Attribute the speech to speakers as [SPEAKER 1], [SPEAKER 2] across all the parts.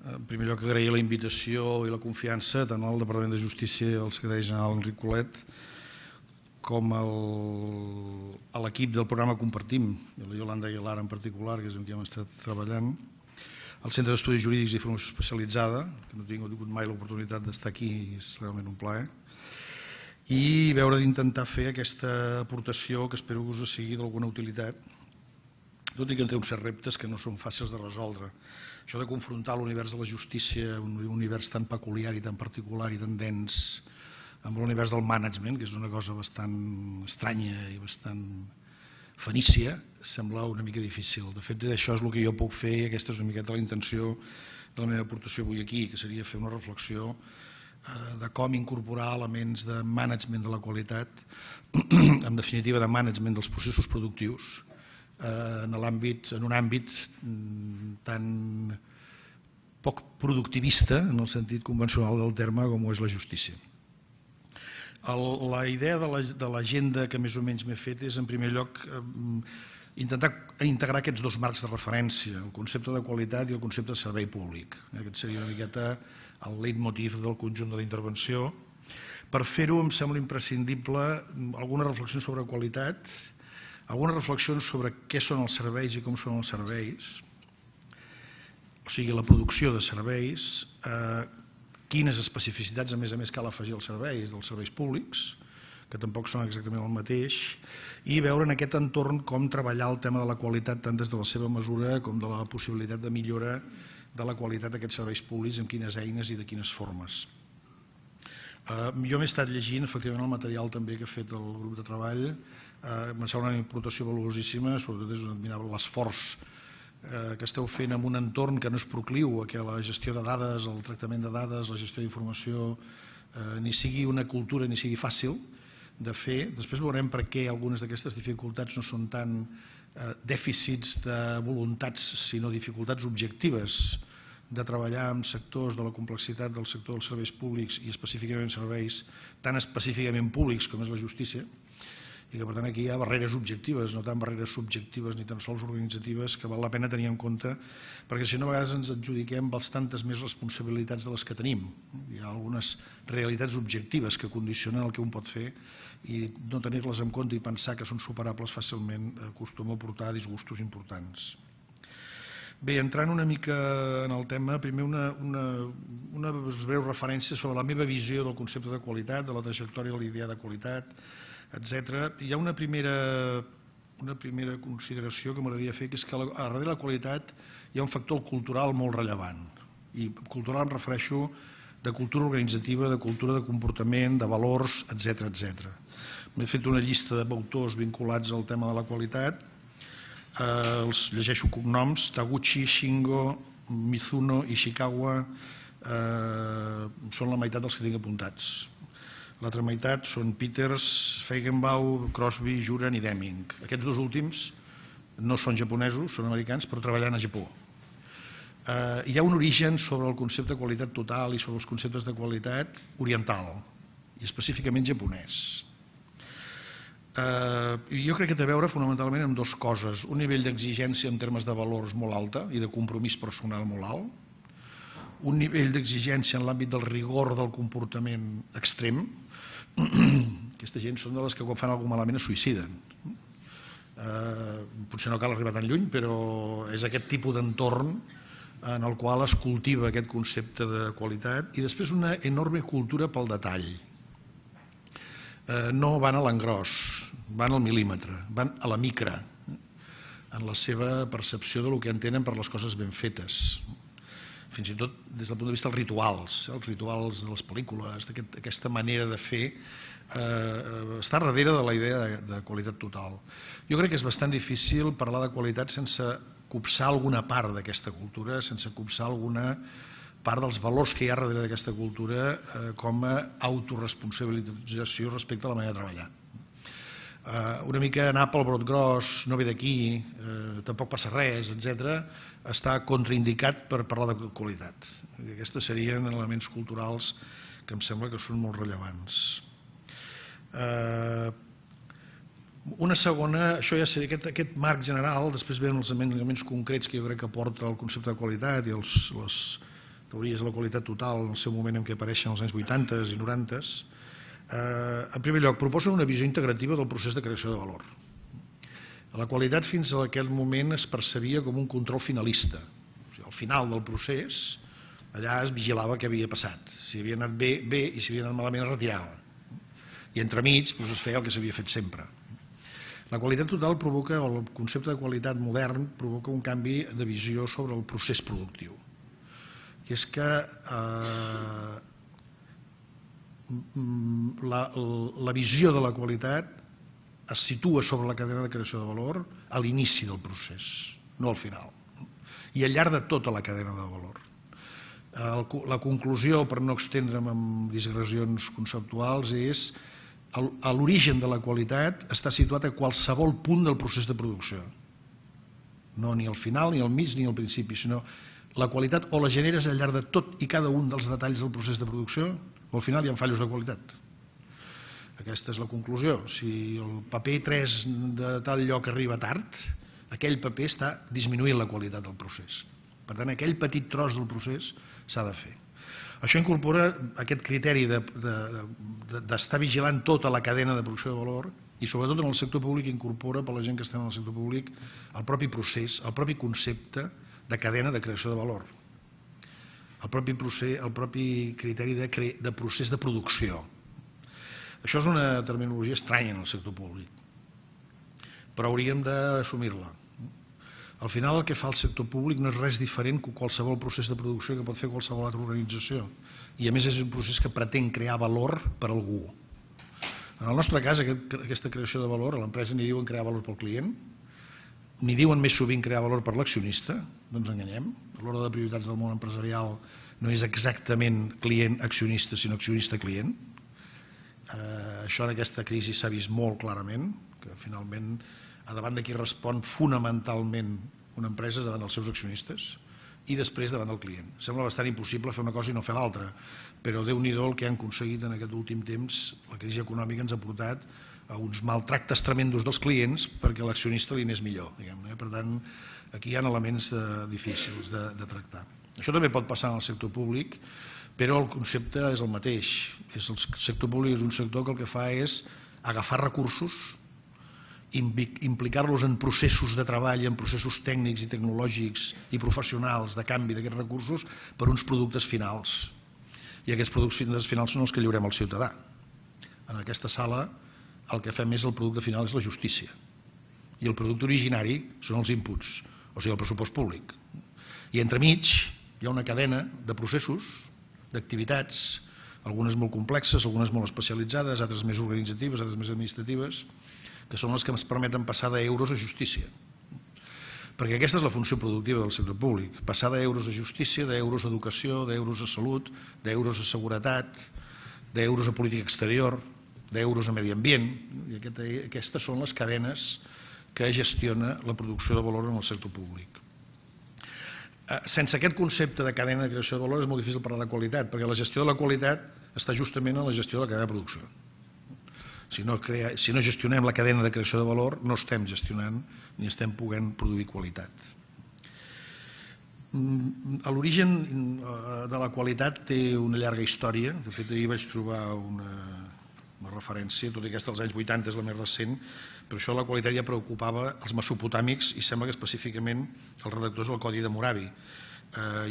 [SPEAKER 1] En primer lloc, agrair la invitació i la confiança tant al Departament de Justícia i al secretari general Enric Colet com a l'equip del programa Compartim, i la Iolanda Aguilar en particular, que és amb qui hem estat treballant, al Centre d'Estudis Jurídics i Formació Especialitzada, que no he tingut mai l'oportunitat d'estar aquí i és realment un plaer, i veure d'intentar fer aquesta aportació que espero que us sigui d'alguna utilitat, tot i que té uns certs reptes que no són fàcils de resoldre. Això de confrontar l'univers de la justícia, un univers tan peculiar i tan particular i tan dens, amb l'univers del management, que és una cosa bastant estranya i bastant fenícia, sembla una mica difícil. De fet, això és el que jo puc fer i aquesta és una miqueta la intenció de la meva aportació avui aquí, que seria fer una reflexió de com incorporar elements de management de la qualitat, en definitiva de management dels processos productius, en un àmbit tan poc productivista en el sentit convencional del terme com ho és la justícia. La idea de l'agenda que més o menys m'he fet és, en primer lloc, intentar integrar aquests dos marcs de referència, el concepte de qualitat i el concepte de servei públic. Aquest seria una miqueta el leitmotiv del conjunt de la intervenció. Per fer-ho em sembla imprescindible algunes reflexions sobre qualitat, algunes reflexions sobre què són els serveis i com són els serveis, o sigui, la producció de serveis, quines especificitats a més cal afegir als serveis dels serveis públics, que tampoc són exactament el mateix, i veure en aquest entorn com treballar el tema de la qualitat tant des de la seva mesura com de la possibilitat de millora de la qualitat d'aquests serveis públics, amb quines eines i de quines formes. Jo m'he estat llegint efectivament el material també que ha fet el grup de treball, m'ha semblat una aportació valuosíssima, sobretot és admirable l'esforç que esteu fent en un entorn que no és procliu a que la gestió de dades, el tractament de dades, la gestió d'informació ni sigui una cultura ni sigui fàcil de fer. Després veurem per què algunes d'aquestes dificultats no són tant dèficits de voluntats sinó dificultats objectives de treballar en sectors de la complexitat del sector dels serveis públics i específicament serveis tan específicament públics com és la justícia, i que per tant aquí hi ha barreres objectives, no tant barreres subjectives ni tan sols organitzatives, que val la pena tenir en compte, perquè si no a vegades ens adjudiquem bastantes més responsabilitats de les que tenim. Hi ha algunes realitats objectives que condicionen el que un pot fer i no tenir-les en compte i pensar que són superables fàcilment acostuma a portar disgustos importants. Bé, entrant una mica en el tema, primer una breu referència sobre la meva visió del concepte de qualitat, de la trajectòria de l'idea de qualitat, etc. Hi ha una primera consideració que m'agradaria fer, que és que darrere de la qualitat hi ha un factor cultural molt rellevant. I cultural em refereixo de cultura organitzativa, de cultura de comportament, de valors, etc. M'he fet una llista d'autors vinculats al tema de la qualitat. Els llegeixo cognoms: Taguchi, Shingo, Mizuno, Ishikawa, són la meitat dels que tinc apuntats. L'altra meitat són Peters, Feigenbaum, Crosby, Juran i Deming. Aquests dos últims no són japonesos, són americans, però treballant a Japó. Hi ha un origen sobre el concepte de qualitat total i sobre els conceptes de qualitat oriental, i específicament japonès. Jo crec que té a veure fonamentalment amb dues coses: un nivell d'exigència en termes de valors molt alta i de compromís personal molt alt, un nivell d'exigència en l'àmbit del rigor del comportament extrem. Aquesta gent són de les que quan fan alguna cosa malament es suïciden. Potser no cal arribar tan lluny, però és aquest tipus d'entorn en el qual es cultiva aquest concepte de qualitat. I després una enorme cultura pel detall. No van a l'engròs, van al mil·límetre, van a la micra, en la seva percepció del que entenen per les coses ben fetes. Fins i tot des del punt de vista dels rituals de les pel·lícules, d'aquesta manera de fer, està darrere de la idea de qualitat total. Jo crec que és bastant difícil parlar de qualitat sense copsar alguna part d'aquesta cultura, sense copsar alguna part dels valors que hi ha darrere d'aquesta cultura com a autoresponsabilització respecte a la manera de treballar. Una mica anar pel brot gros, no ve d'aquí, tampoc passa res, etc., està contraindicat per parlar de qualitat. Aquests serien elements culturals que em sembla que són molt rellevants. Una segona, això ja seria aquest marc general, després venen els elements concrets que jo crec que aporta el concepte de qualitat i les teories de la qualitat total en el seu moment en què apareixen als anys 80 i 90, en primer lloc, proposen una visió integrativa del procés de creació de valor. La qualitat fins a aquell moment es percebia com un control finalista. O sigui, al final del procés, allà es vigilava què havia passat. Si havia anat bé, bé, i si havia anat malament es retirava. I entremig es feia el que s'havia fet sempre. La qualitat total provoca, o el concepte de qualitat modern, provoca un canvi de visió sobre el procés productiu. Que és que la visió de la qualitat es situa sobre la cadena de creació de valor a l'inici del procés, no al final, i al llarg de tota la cadena de valor. La conclusió, per no extendre'm en digressions conceptuals, és que l'origen de la qualitat està situat a qualsevol punt del procés de producció. No ni al final, ni al mig, ni al principi, sinó la qualitat o la generes al llarg de tot i cada un dels detalls del procés de producció, o al final hi ha fallos de qualitat. Aquesta és la conclusió. Si el paper 3 de tal lloc arriba tard, aquell paper està disminuint la qualitat del procés. Per tant, aquell petit tros del procés s'ha de fer. Això incorpora aquest criteri d'estar vigilant tota la cadena de producció de valor i sobretot en el sector públic incorpora per la gent que estem en el sector públic el propi procés, el propi concepte de cadena de creació de valor, el propi criteri de procés de producció. Això és una terminologia estranya en el sector públic, però hauríem d'assumir-la. Al final el que fa el sector públic no és res diferent que qualsevol procés de producció que pot fer qualsevol altra organització. I a més és un procés que pretén crear valor per a algú. En el nostre cas, aquesta creació de valor, a l'empresa ni diuen crear valor pel client, ni diuen més sovint crear valor per l'accionista, no ens enganyem. A l'hora de prioritats del món empresarial no és exactament client-accionista, sinó accionista-client. Això en aquesta crisi s'ha vist molt clarament, que finalment davant de qui respon fonamentalment una empresa davant dels seus accionistes i després davant del client. Sembla bastant impossible fer una cosa i no fer l'altra, però Déu-n'hi-do el que han aconseguit en aquest últim temps. La crisi econòmica ens ha portat a uns maltractes tremendos dels clients perquè l'accionista li anés millor. Per tant, aquí hi ha elements difícils de tractar. Això també pot passar en el sector públic, però el concepte és el mateix. El sector públic és un sector que el que fa és agafar recursos, implicar-los en processos de treball, en processos tècnics i tecnològics i professionals de canvi d'aquests recursos per uns productes finals. I aquests productes finals són els que lliurem al ciutadà. En aquesta sala el que fem és el producte final és la justícia. I el producte originari són els inputs, o sigui el pressupost públic. I entremig hi ha una cadena de processos, d'activitats, algunes molt complexes, algunes molt especialitzades, altres més organitzatives, altres més administratives, que són les que ens permeten passar d'euros a justícia. Perquè aquesta és la funció productiva del sector públic, passar d'euros a justícia, d'euros a educació, d'euros a salut, d'euros a seguretat, d'euros a política exterior, d'euros a medi ambient. I aquestes són les cadenes que gestiona la producció de valor en el sector públic. Sense aquest concepte de cadena de creació de valor és molt difícil parlar de qualitat, perquè la gestió de la qualitat està justament en la gestió de la cadena de producció. Si no gestionem la cadena de creació de valor, no estem gestionant ni estem podent produir qualitat. L'origen de la qualitat té una llarga història. De fet, ahir vaig trobar una referència, tot i que aquesta dels anys 80 és la més recent, però això de la qualitat ja preocupava els mesopotàmics i sembla que específicament els redactors del Codi d'Hammurabi.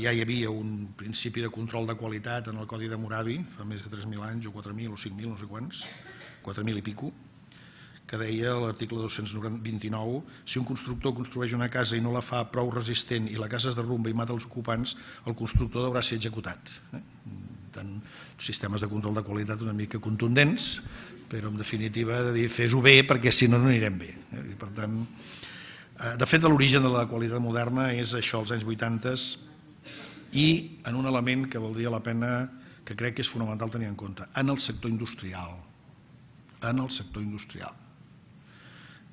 [SPEAKER 1] Ja hi havia un principi de control de qualitat en el Codi d'Hammurabi, fa més de 3.000 anys, o 4.000 o 5.000, no sé quants, 4.000 i pico, que deia a l'article 229: si un constructor construeix una casa i no la fa prou resistent i la casa es derrumba i mata els ocupants, el constructor deurà ser executat. Tant sistemes de control de qualitat una mica contundents, però en definitiva de dir fes-ho bé perquè si no no anirem bé. Per tant, de fet l'origen de la qualitat moderna és això, als anys 80, i en un element que valdria la pena, que crec que és fonamental tenir en compte, en el sector industrial. En el sector industrial.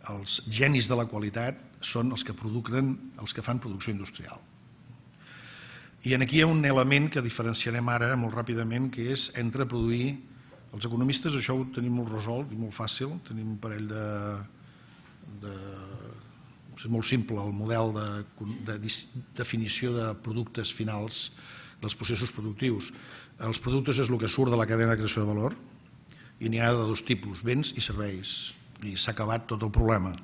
[SPEAKER 1] Els genis de la qualitat són els que fan producció industrial. I aquí hi ha un element que diferenciarem ara molt ràpidament, que és entre produir. Els economistes això ho tenim molt resolt i molt fàcil, tenim un parell és molt simple el model de definició de productes finals dels processos productius. Els productes és el que surt de la cadena de creació de valor i n'hi ha de dos tipus, béns i serveis. I s'ha acabat tot el problema.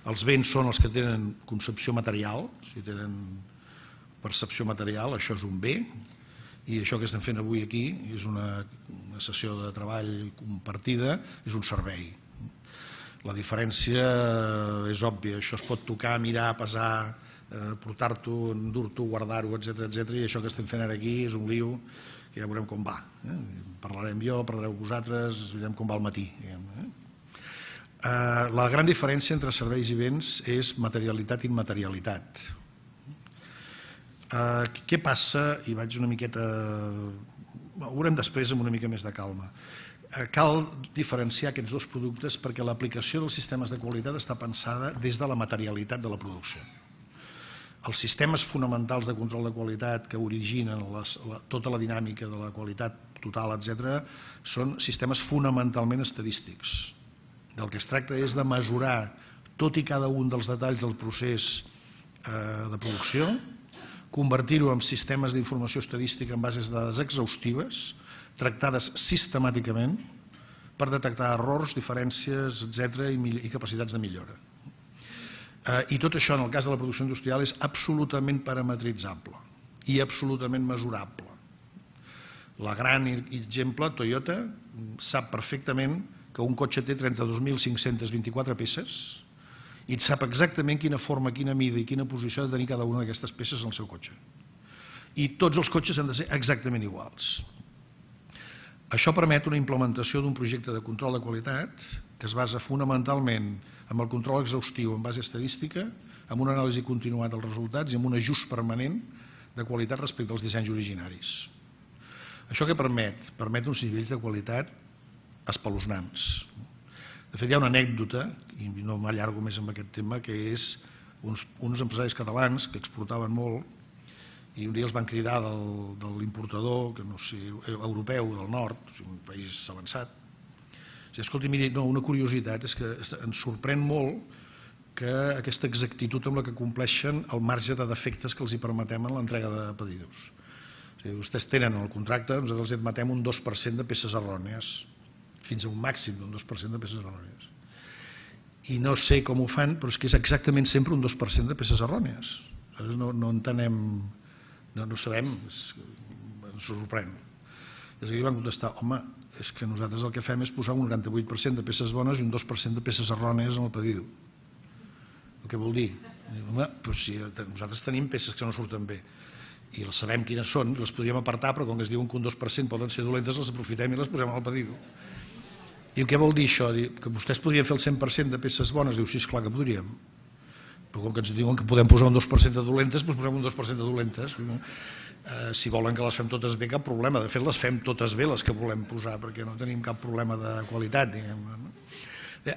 [SPEAKER 1] Els béns són els que tenen concepció material, si tenen percepció material, això és un bé, i això que estem fent avui aquí és una sessió de treball compartida, és un servei. La diferència és òbvia, això es pot tocar, mirar, pesar, portar-t'ho, endur-t'ho, guardar-ho, etc. I això que estem fent ara aquí és un lío que ja veurem com va. Parlarem jo, parlareu vosaltres, veurem com va al matí. La gran diferència entre serveis i béns és materialitat i immaterialitat. Què passa? I vaig una miqueta... Ho veurem després amb una mica més de calma. Cal diferenciar aquests dos productes perquè l'aplicació dels sistemes de qualitat està pensada des de la materialitat de la producció. Els sistemes fonamentals de control de qualitat que originen tota la dinàmica de la qualitat total, etc., són sistemes fonamentalment estadístics. Del que es tracta és de mesurar tot i cada un dels detalls del procés de producció, convertir-ho en sistemes d'informació estadística en bases de dades exhaustives, tractades sistemàticament per detectar errors, diferències, etc. i capacitats de millora. I tot això, en el cas de la producció industrial, és absolutament parametritzable i absolutament mesurable. La gran exemple, Toyota, sap perfectament que un cotxe té 32.524 peces i sap exactament quina forma, quina mida i quina posició ha de tenir cada una d'aquestes peces en el seu cotxe. I tots els cotxes han de ser exactament iguals. Això permet una implementació d'un projecte de control de qualitat que es basa fonamentalment en el control exhaustiu en base estadística, amb una anàlisi continuada dels resultats i amb un ajust permanent de qualitat respecte als dissenys originaris. Això què permet? Permet uns nivells de qualitat espeluznants. De fet, hi ha una anècdota, i no m'allargo més amb aquest tema, que és uns empresaris catalans que exportaven molt i un dia els van cridar de l'importador, que no sé, europeu del nord, un país avançat. Escolti, miri, una curiositat és que ens sorprèn molt que aquesta exactitud amb la que compleixen el marge de defectes que els hi permetem en l'entrega de pedidos. Vostès tenen el contracte, nosaltres els admetem un 2% de peces errònies, fins a un màxim d'un 2% de peces errònies. I no sé com ho fan, però és que és exactament sempre un 2% de peces errònies. No entenem... No sabem, ens sorprèn. Des d'aquí van contestar, home, és que nosaltres el que fem és posar un 98% de peces bones i un 2% de peces errònies en el pedido. Què vol dir? Home, doncs si nosaltres tenim peces que no surten bé i les sabem quines són, les podríem apartar, però com que es diuen que un 2% poden ser dolentes, les aprofitem i les posem al pedido. I què vol dir això? Que vostès podrien fer el 100% de peces bones? Diu, sí, esclar que podríem. Però com que ens diuen que podem posar un 2% de dolentes, doncs posem un 2% de dolentes. Si volen que les fem totes bé, cap problema. De fet, les fem totes bé, les que volem posar, perquè no tenim cap problema de qualitat.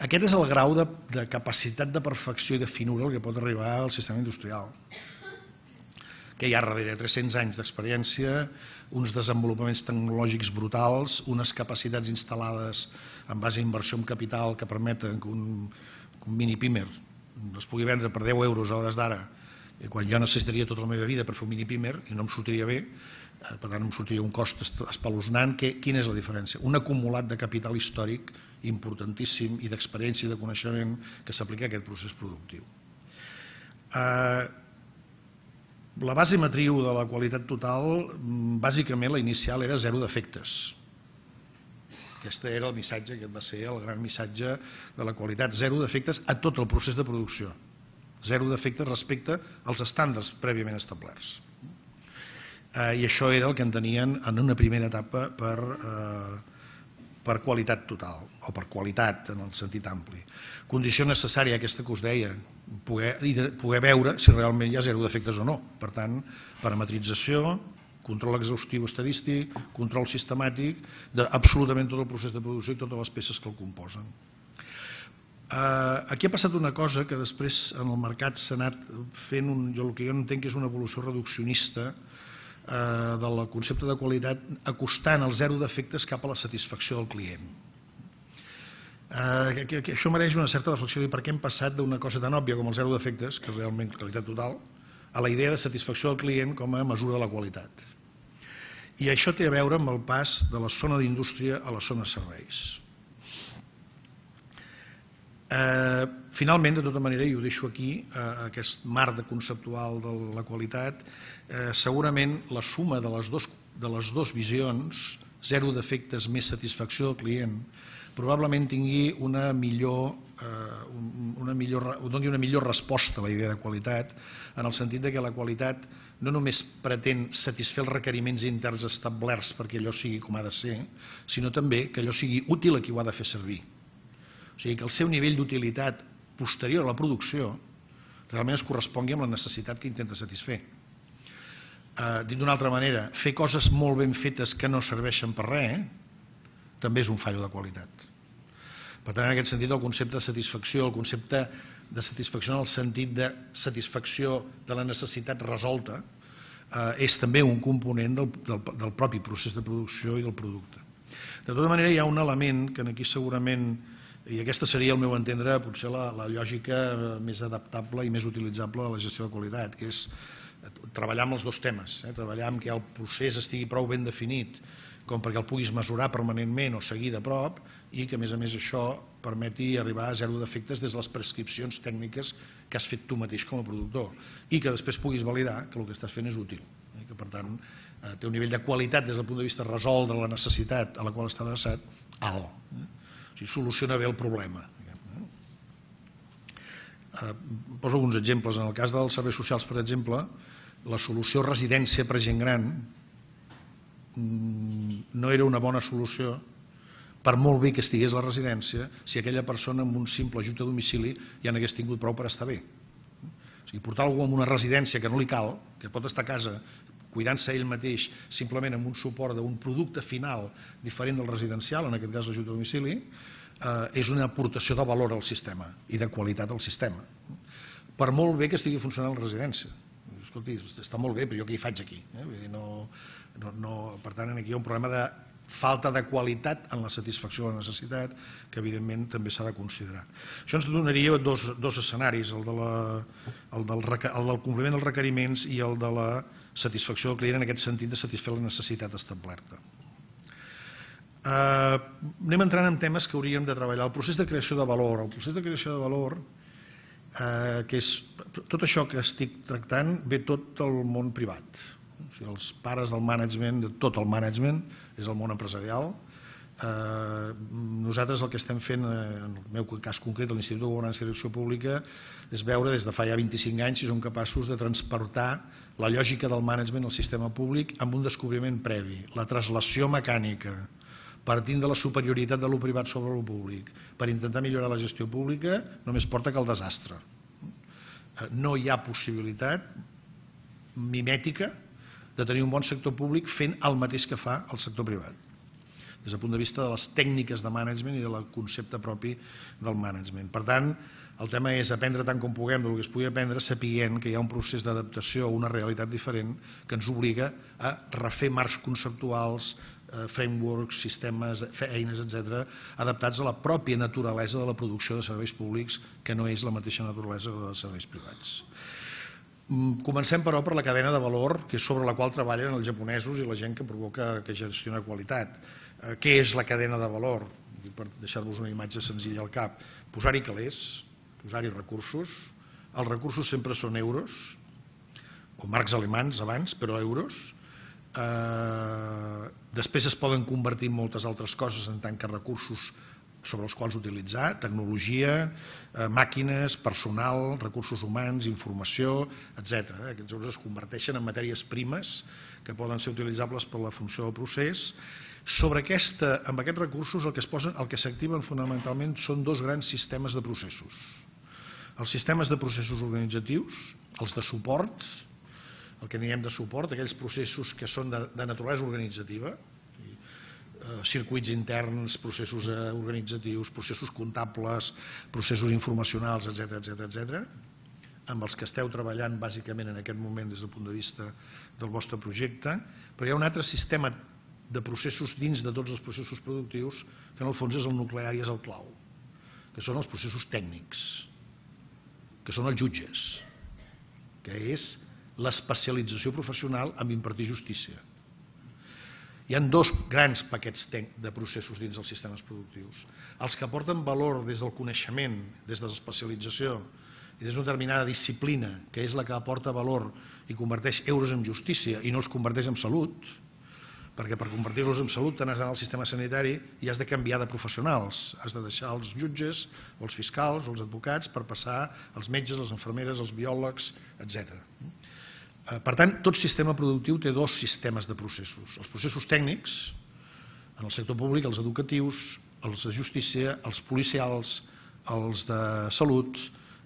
[SPEAKER 1] Aquest és el grau de capacitat de perfecció i de finura al que pot arribar el sistema industrial, que hi ha darrere 300 anys d'experiència, uns desenvolupaments tecnològics brutals, unes capacitats instal·lades en base a inversió en capital que permeten que un mini-pimer es pugui vendre per 10 euros a hores d'ara, quan jo necessitaria tota la meva vida per fer un mini-pimer i no em sortiria bé, per tant em sortiria un cost espeluznant. Quina és la diferència? Un acumulat de capital històric importantíssim i d'experiència i de coneixement que s'aplica a aquest procés productiu. La base matriu de la qualitat total, bàsicament la inicial era zero defectes. Aquest era el missatge, aquest va ser el gran missatge de la qualitat. Zero defectes a tot el procés de producció. Zero defectes respecte als estàndards prèviament establerts. I això era el que entenien en una primera etapa per qualitat total, o per qualitat en el sentit ampli. Condició necessària aquesta que us deia, poder veure si realment hi ha zero defectes o no. Per tant, parametrització, control exhaustiu estadístic, control sistemàtic d'absolutament tot el procés de producció i totes les peces que el composen. Aquí ha passat una cosa que després en el mercat s'ha anat fent, el que jo entenc que és una evolució reduccionista del concepte de qualitat, acostant els zero defectes cap a la satisfacció del client. Això mereix una certa reflexió de per què hem passat d'una cosa tan òbvia com els zero defectes, que és realment qualitat total, a la idea de satisfacció del client com a mesura de la qualitat. I això té a veure amb el pas de la zona d'indústria a la zona de serveis. Finalment, de tota manera, i ho deixo aquí, aquest marc conceptual de la qualitat, segurament la suma de les dues visions, zero defectes més satisfacció del client, probablement tingui doni una millor resposta a la idea de qualitat, en el sentit que la qualitat no només pretén satisfer els requeriments interns establerts perquè allò sigui com ha de ser, sinó també que allò sigui útil a qui ho ha de fer servir. O sigui, que el seu nivell d'utilitat posterior a la producció realment es correspongui amb la necessitat que intenta satisfer. Dit d'una altra manera, fer coses molt ben fetes que no serveixen per res també és un fallo de qualitat. Per tant, en aquest sentit, el concepte de satisfacció, el concepte de satisfacció en el sentit de satisfacció de la necessitat resolta, és també un component del propi procés de producció i del producte. De tota manera, hi ha un element que aquí segurament, i aquesta seria, al meu entendre, potser la lògica més adaptable i més utilitzable de la gestió de qualitat, que és treballar amb els dos temes, treballar amb que el procés estigui prou ben definit com perquè el puguis mesurar permanentment o seguir de prop i que, a més això, permeti arribar a zero defectes des de les prescripcions tècniques que has fet tu mateix com a productor i que després puguis validar que el que estàs fent és útil, que per tant té un nivell de qualitat des del punt de vista de resoldre la necessitat a la qual està adreçat alt. O sigui, soluciona bé el problema. Poso alguns exemples. En el cas dels serveis socials, per exemple, la solució residència per gent gran no era una bona solució, per molt bé que estigués la residència, si aquella persona amb un simple ajut a domicili ja n'hagués tingut prou per estar bé. O sigui, portar algú a una residència que no li cal, que pot estar a casa cuidant-se ell mateix simplement amb un suport d'un producte final diferent del residencial, en aquest cas l'ajut a domicili, és una aportació de valor al sistema i de qualitat al sistema. Per molt bé que estigui funcionant la residència. Escolti, està molt bé, però jo què hi faig aquí? Per tant, aquí hi ha un problema de falta de qualitat en la satisfacció de la necessitat que evidentment també s'ha de considerar. Això ens donaria dos escenaris, el del compliment dels requeriments i el de la satisfacció del client en aquest sentit de satisfer la necessitat establerta. Anem entrant en temes que hauríem de treballar. El procés de creació de valor. El procés de creació de valor, que és tot això que estic tractant, ve tot del món privat. O sigui, els pares del management, de tot el management, és el món empresarial. Nosaltres el que estem fent, en el meu cas concret, a l'Institut de Governança i Direcció Pública, és veure des de fa ja 25 anys si som capaços de transportar la lògica del management al sistema públic amb un descobriment previ, la translació mecànica, partint de la superioritat de lo privat sobre lo públic, per intentar millorar la gestió pública, només porta que al desastre. No hi ha possibilitat mimètica de tenir un bon sector públic fent el mateix que fa el sector privat, des del punt de vista de les tècniques de management i del concepte propi del management. Per tant, el tema és aprendre tant com puguem del que es pugui aprendre, sapiguent que hi ha un procés d'adaptació a una realitat diferent que ens obliga a refer marcs conceptuals, frameworks, sistemes, eines, etc., adaptats a la pròpia naturalesa de la producció de serveis públics, que no és la mateixa naturalesa que la dels serveis privats. Comencem, però, per la cadena de valor, que és sobre la qual treballen els japonesos i la gent que gestiona qualitat. Què és la cadena de valor? Per deixar-vos una imatge senzilla al cap. Posar-hi calés, posar-hi recursos. Els recursos sempre són euros, o marcs alemans abans, però euros. Després es poden convertir en moltes altres coses en tant que recursos sobre els quals utilitzar, tecnologia, màquines, personal, recursos humans, informació, etc. Aquests euros es converteixen en matèries primes que poden ser utilitzables per la funció del procés. Amb aquests recursos el que s'activen fonamentalment són dos grans sistemes de processos. Els sistemes de processos organitzatius, els de suport, el que diem de suport, aquells processos que són de naturalesa organitzativa, circuits interns, processos organitzatius, processos comptables, processos informacionals, etc., amb els que esteu treballant bàsicament en aquest moment des del punt de vista del vostre projecte, però hi ha un altre sistema de processos dins de tots els processos productius que en el fons és el nuclear i és el clau, que són els processos tècnics, que són els jutges, que és l'especialització professional en impartir justícia. Hi ha dos grans paquets de processos dins dels sistemes productius. Els que aporten valor des del coneixement, des de l'especialització i des d'una determinada disciplina, que és la que aporta valor i converteix euros en justícia i no els converteix en salut, perquè per convertir-los en salut t'has d'anar al sistema sanitari i has de canviar de professionals. Has de deixar els jutges, o els fiscals, o els advocats per passar als metges, les infermeres, els biòlegs, etc. Per tant, tot sistema productiu té dos sistemes de processos. Els processos tècnics, en el sector públic, els educatius, els de justícia, els policials, els de salut,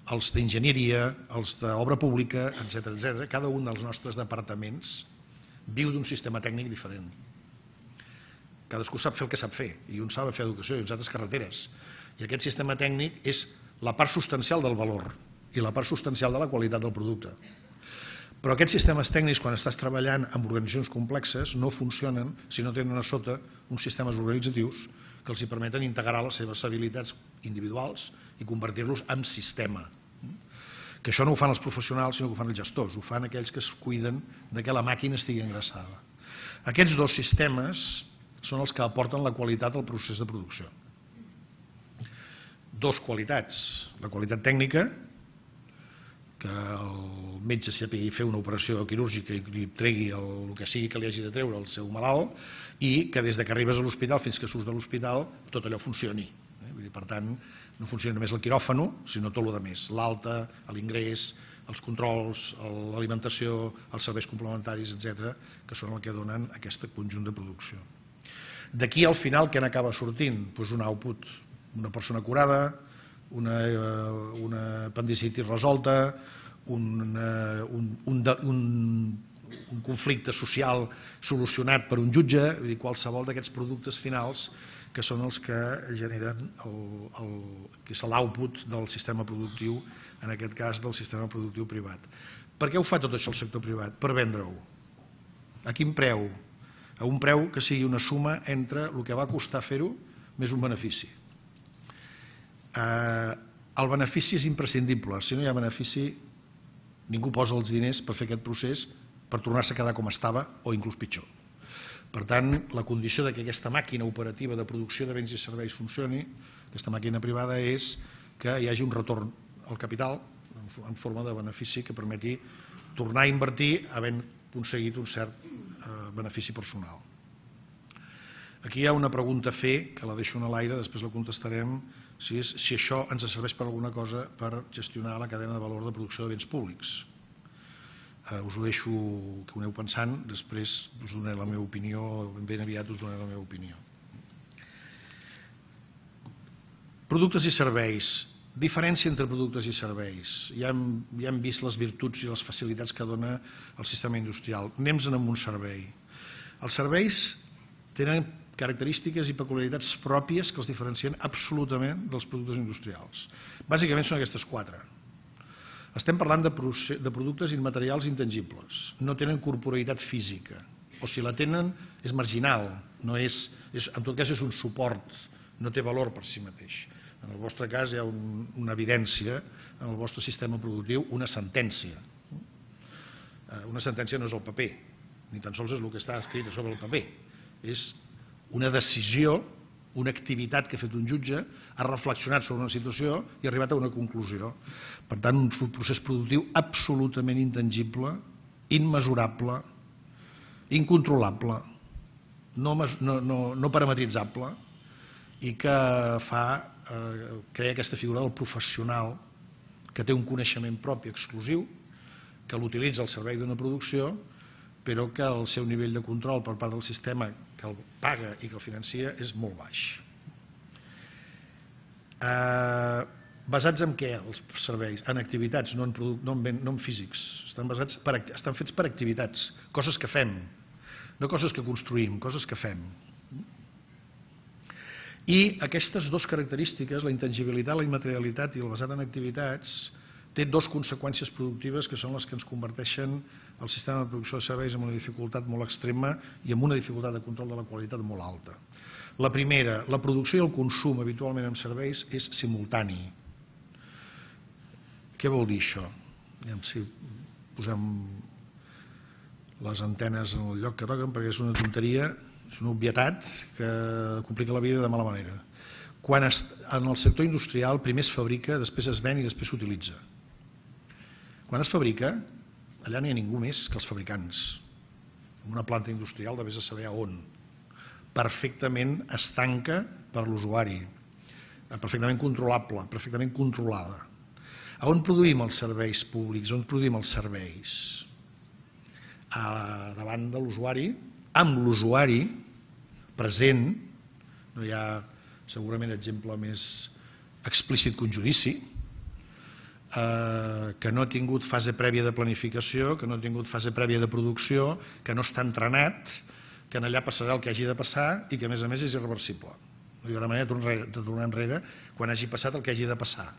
[SPEAKER 1] els d'enginyeria, els d'obra pública, etc. Cada un dels nostres departaments viu d'un sistema tècnic diferent. Cadascú sap fer el que sap fer, i uns saben fer educació i uns altres carreteres. I aquest sistema tècnic és la part substancial del valor i la part substancial de la qualitat del producte. Però aquests sistemes tècnics, quan estàs treballant amb organitzacions complexes, no funcionen si no tenen a sota uns sistemes organitzatius que els permeten integrar les seves habilitats individuals i convertir-los en sistema. Que això no ho fan els professionals, sinó que ho fan els gestors, ho fan aquells que es cuiden de que la màquina estigui engraçada. Aquests dos sistemes són els que aporten la qualitat al procés de producció. Dos qualitats, la qualitat tècnica, que el metge sàpiga fer una operació quirúrgica i li tregui el que sigui que li hagi de treure al seu malalt, i que des que arribes a l'hospital fins que surts de l'hospital tot allò funcioni. Per tant, no funciona només el quiròfano, sinó tot el que més, l'alta, l'ingrés, els controls, l'alimentació, els serveis complementaris, etc., que són el que donen aquest conjunt de producció. D'aquí al final què n'acaba sortint? Doncs un output, una persona curada, una apendicitis resolta, un conflicte social solucionat per un jutge, qualsevol d'aquests productes finals que són els que generen l'output del sistema productiu, en aquest cas del sistema productiu privat. Per què ho fa tot això el sector privat? Per vendre-ho. A quin preu? A un preu que sigui una suma entre el que va costar fer-ho més un benefici. El benefici és imprescindible. Si no hi ha benefici, ningú posa els diners per fer aquest procés per tornar-se a quedar com estava o inclús pitjor. Per tant, la condició que aquesta màquina operativa de producció de béns i serveis funcioni, aquesta màquina privada, és que hi hagi un retorn al capital en forma de benefici que permeti tornar a invertir havent aconseguit un cert benefici personal. Aquí hi ha una pregunta a fer, que la deixo en l'aire, després la contestarem, si això ens serveix per alguna cosa per gestionar la cadena de valor de producció de béns públics. Us ho deixo que ho aneu pensant, després us donaré la meva opinió, ben aviat us donaré la meva opinió. Productes i serveis. Diferència entre productes i serveis. Ja hem vist les virtuts i les facilitats que dona el sistema industrial. Anem-se'n amb un servei. Els serveis tenen característiques i peculiaritats pròpies que els diferencien absolutament dels productes industrials. Bàsicament són aquestes quatre. Estem parlant de productes immaterials intangibles. No tenen corporeïtat física. O si la tenen és marginal. En tot cas és un suport. No té valor per si mateix. En el vostre cas hi ha una evidència, en el vostre sistema productiu, una sentència. Una sentència no és el paper, ni tan sols és el que està escrit sobre el paper. És una decisió, una activitat que ha fet un jutge, ha reflexionat sobre una situació i ha arribat a una conclusió. Per tant, un procés productiu absolutament intangible, immesurable, incontrolable, no parametritzable, i que crea aquesta figura del professional que té un coneixement propi exclusiu, que l'utilitza al servei d'una producció, però que el seu nivell de control per part del sistema que el paga i que el financia és molt baix. Basats en què els serveis? En activitats, no en físics. Estan fets per activitats, coses que fem, no coses que construïm, coses que fem. I aquestes dues característiques, la intangibilitat, la immaterialitat i el basat en activitats, té dues conseqüències productives que són les que ens converteixen el sistema de producció de serveis en una dificultat molt extrema i en una dificultat de control de la qualitat molt alta. La primera, la producció i el consum habitualment en serveis és simultani. Què vol dir això? Si posem les antenes en el lloc que toquen, perquè és una tonteria, és una obvietat que complica la vida de mala manera. Quan en el sector industrial primer es fabrica, després es ven i després s'utilitza. Quan es fabrica, allà no hi ha ningú més que els fabricants. En una planta industrial de vés a saber a on. Perfectament estanca per l'usuari, perfectament controlable, perfectament controlada. A on produïm els serveis públics? On produïm els serveis? Davant de l'usuari, amb l'usuari present. No hi ha segurament exemple més explícit que un judici, que no ha tingut fase prèvia de planificació, que no ha tingut fase prèvia de producció, que no està entrenat, que allà passarà el que hagi de passar i que a més és irreversible. No hi haurà manera de tornar enrere quan hagi passat el que hagi de passar.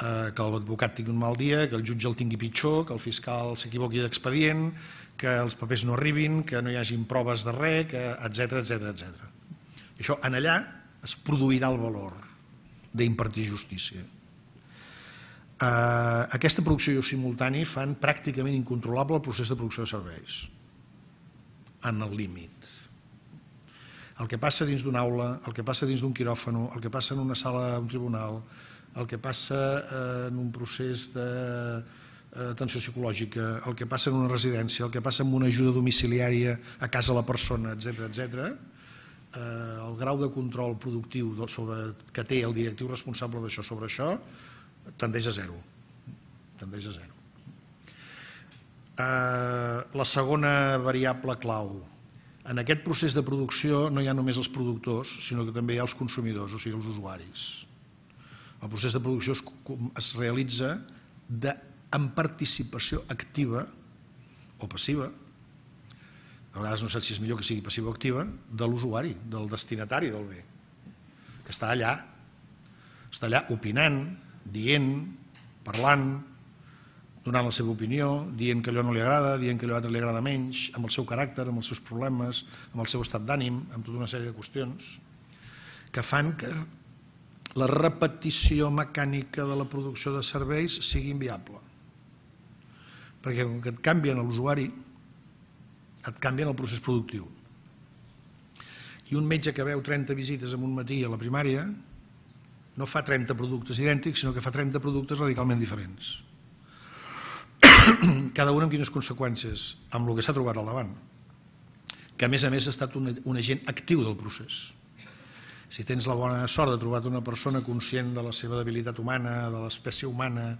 [SPEAKER 1] Que l'advocat tingui un mal dia, que el jutge el tingui pitjor, que el fiscal s'equivoqui d'expedient, que els papers no arribin, que no hi hagin proves de res, etc. Això en allà es produirà el valor d'impartir justícia. Aquesta producció i simultani fan pràcticament incontrolable el procés de producció de serveis, en el límit. El que passa dins d'una aula, el que passa dins d'un quiròfano, el que passa en una sala d'un tribunal, el que passa en un procés d'atenció psicològica, el que passa en una residència, el que passa en una ajuda domiciliària a casa la persona, etc., el grau de control productiu que té el directiu responsable d'això sobre això tendeix a zero. La segona variable clau. En aquest procés de producció no hi ha només els productors, sinó que també hi ha els consumidors, o sigui, els usuaris. El procés de producció es realitza amb participació activa o passiva, a vegades no sé si és millor que sigui passiva o activa, de l'usuari, del destinatari del bé, que està allà opinant, dient, parlant, donant la seva opinió, dient que allò no li agrada, dient que allò altre li agrada menys, amb el seu caràcter, amb els seus problemes, amb el seu estat d'ànim, amb tota una sèrie de qüestions que fan que la repetició mecànica de la producció de serveis sigui inviable. Perquè com que et canvien l'usuari, et canvien el procés productiu. I un metge que veu 30 visites en un matí a la primària no fa 30 productes idèntics, sinó que fa 30 productes radicalment diferents. Cada un amb quines conseqüències? Amb el que s'ha trobat al davant. Que a més ha estat un agent actiu del procés. Si tens la bona sort de trobar una persona conscient de la seva debilitat humana, de l'espècie humana,